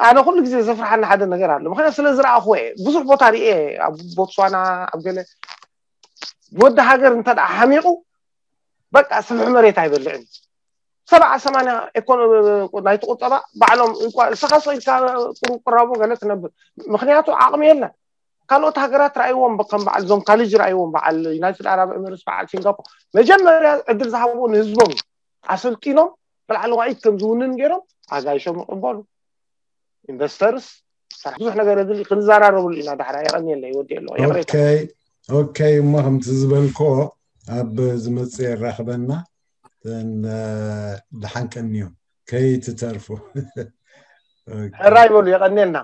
ኣነ ኩሉ ግዜ ዘፍርሓኒ ሓደ ነገር ኣሎ። ምክንያቱ ስለ ዝረኣኹዎ እየ። ብዙሕ ቦታ ርኤ፣ ኣብ ቦትስዋና፣ ኣብ ገለ ወዲ ሃገር እንተ ደኣ ሓሚቑ በቃ ስፍሕ መሬት ኣይበልዕን። ሰብዓ ሰማንያ ኢኮኖሚ ናይቲ ቁጠባ ባዕሎም እንኳ እስኻ ሰው ኢልካ ቁሩብ ቅራቦ ገለ ትነብር። ምክንያቱ ዓቕሚ የለን። ካልኦት ሃገራት ረኣይዎም፣ ከም በዓል እዞም ካሊጅ ረኣይዎም፣ በዓል ዩናይትድ ኣረብ ኤምሬትስ፣ በዓል ሲንጋፖር መጀመርያ ዕድል ዝሃብዎ ንህዝቦም እዩ። ኣሰልጢኖም ብላዕለዋይት ከም ዝውንን ገይሮም ኣጋይሾም ይቕበሉ። ኢንቨስተርስ ብዙሕ ነገር የድሊ፣ ክንዘራረብሉ ኢና። ዳሕራ የቐንየለይ፣ ወዲ ኣለዎ። ኦኬ፣ ኦኬ። እሞ ከምቲ ዝበልኮ ኣብ ዝመጽእ የራኽበና። ደሓን ቀንዮም ከይትተርፉ። ሕራይ በሉ፣ የቐንየልና።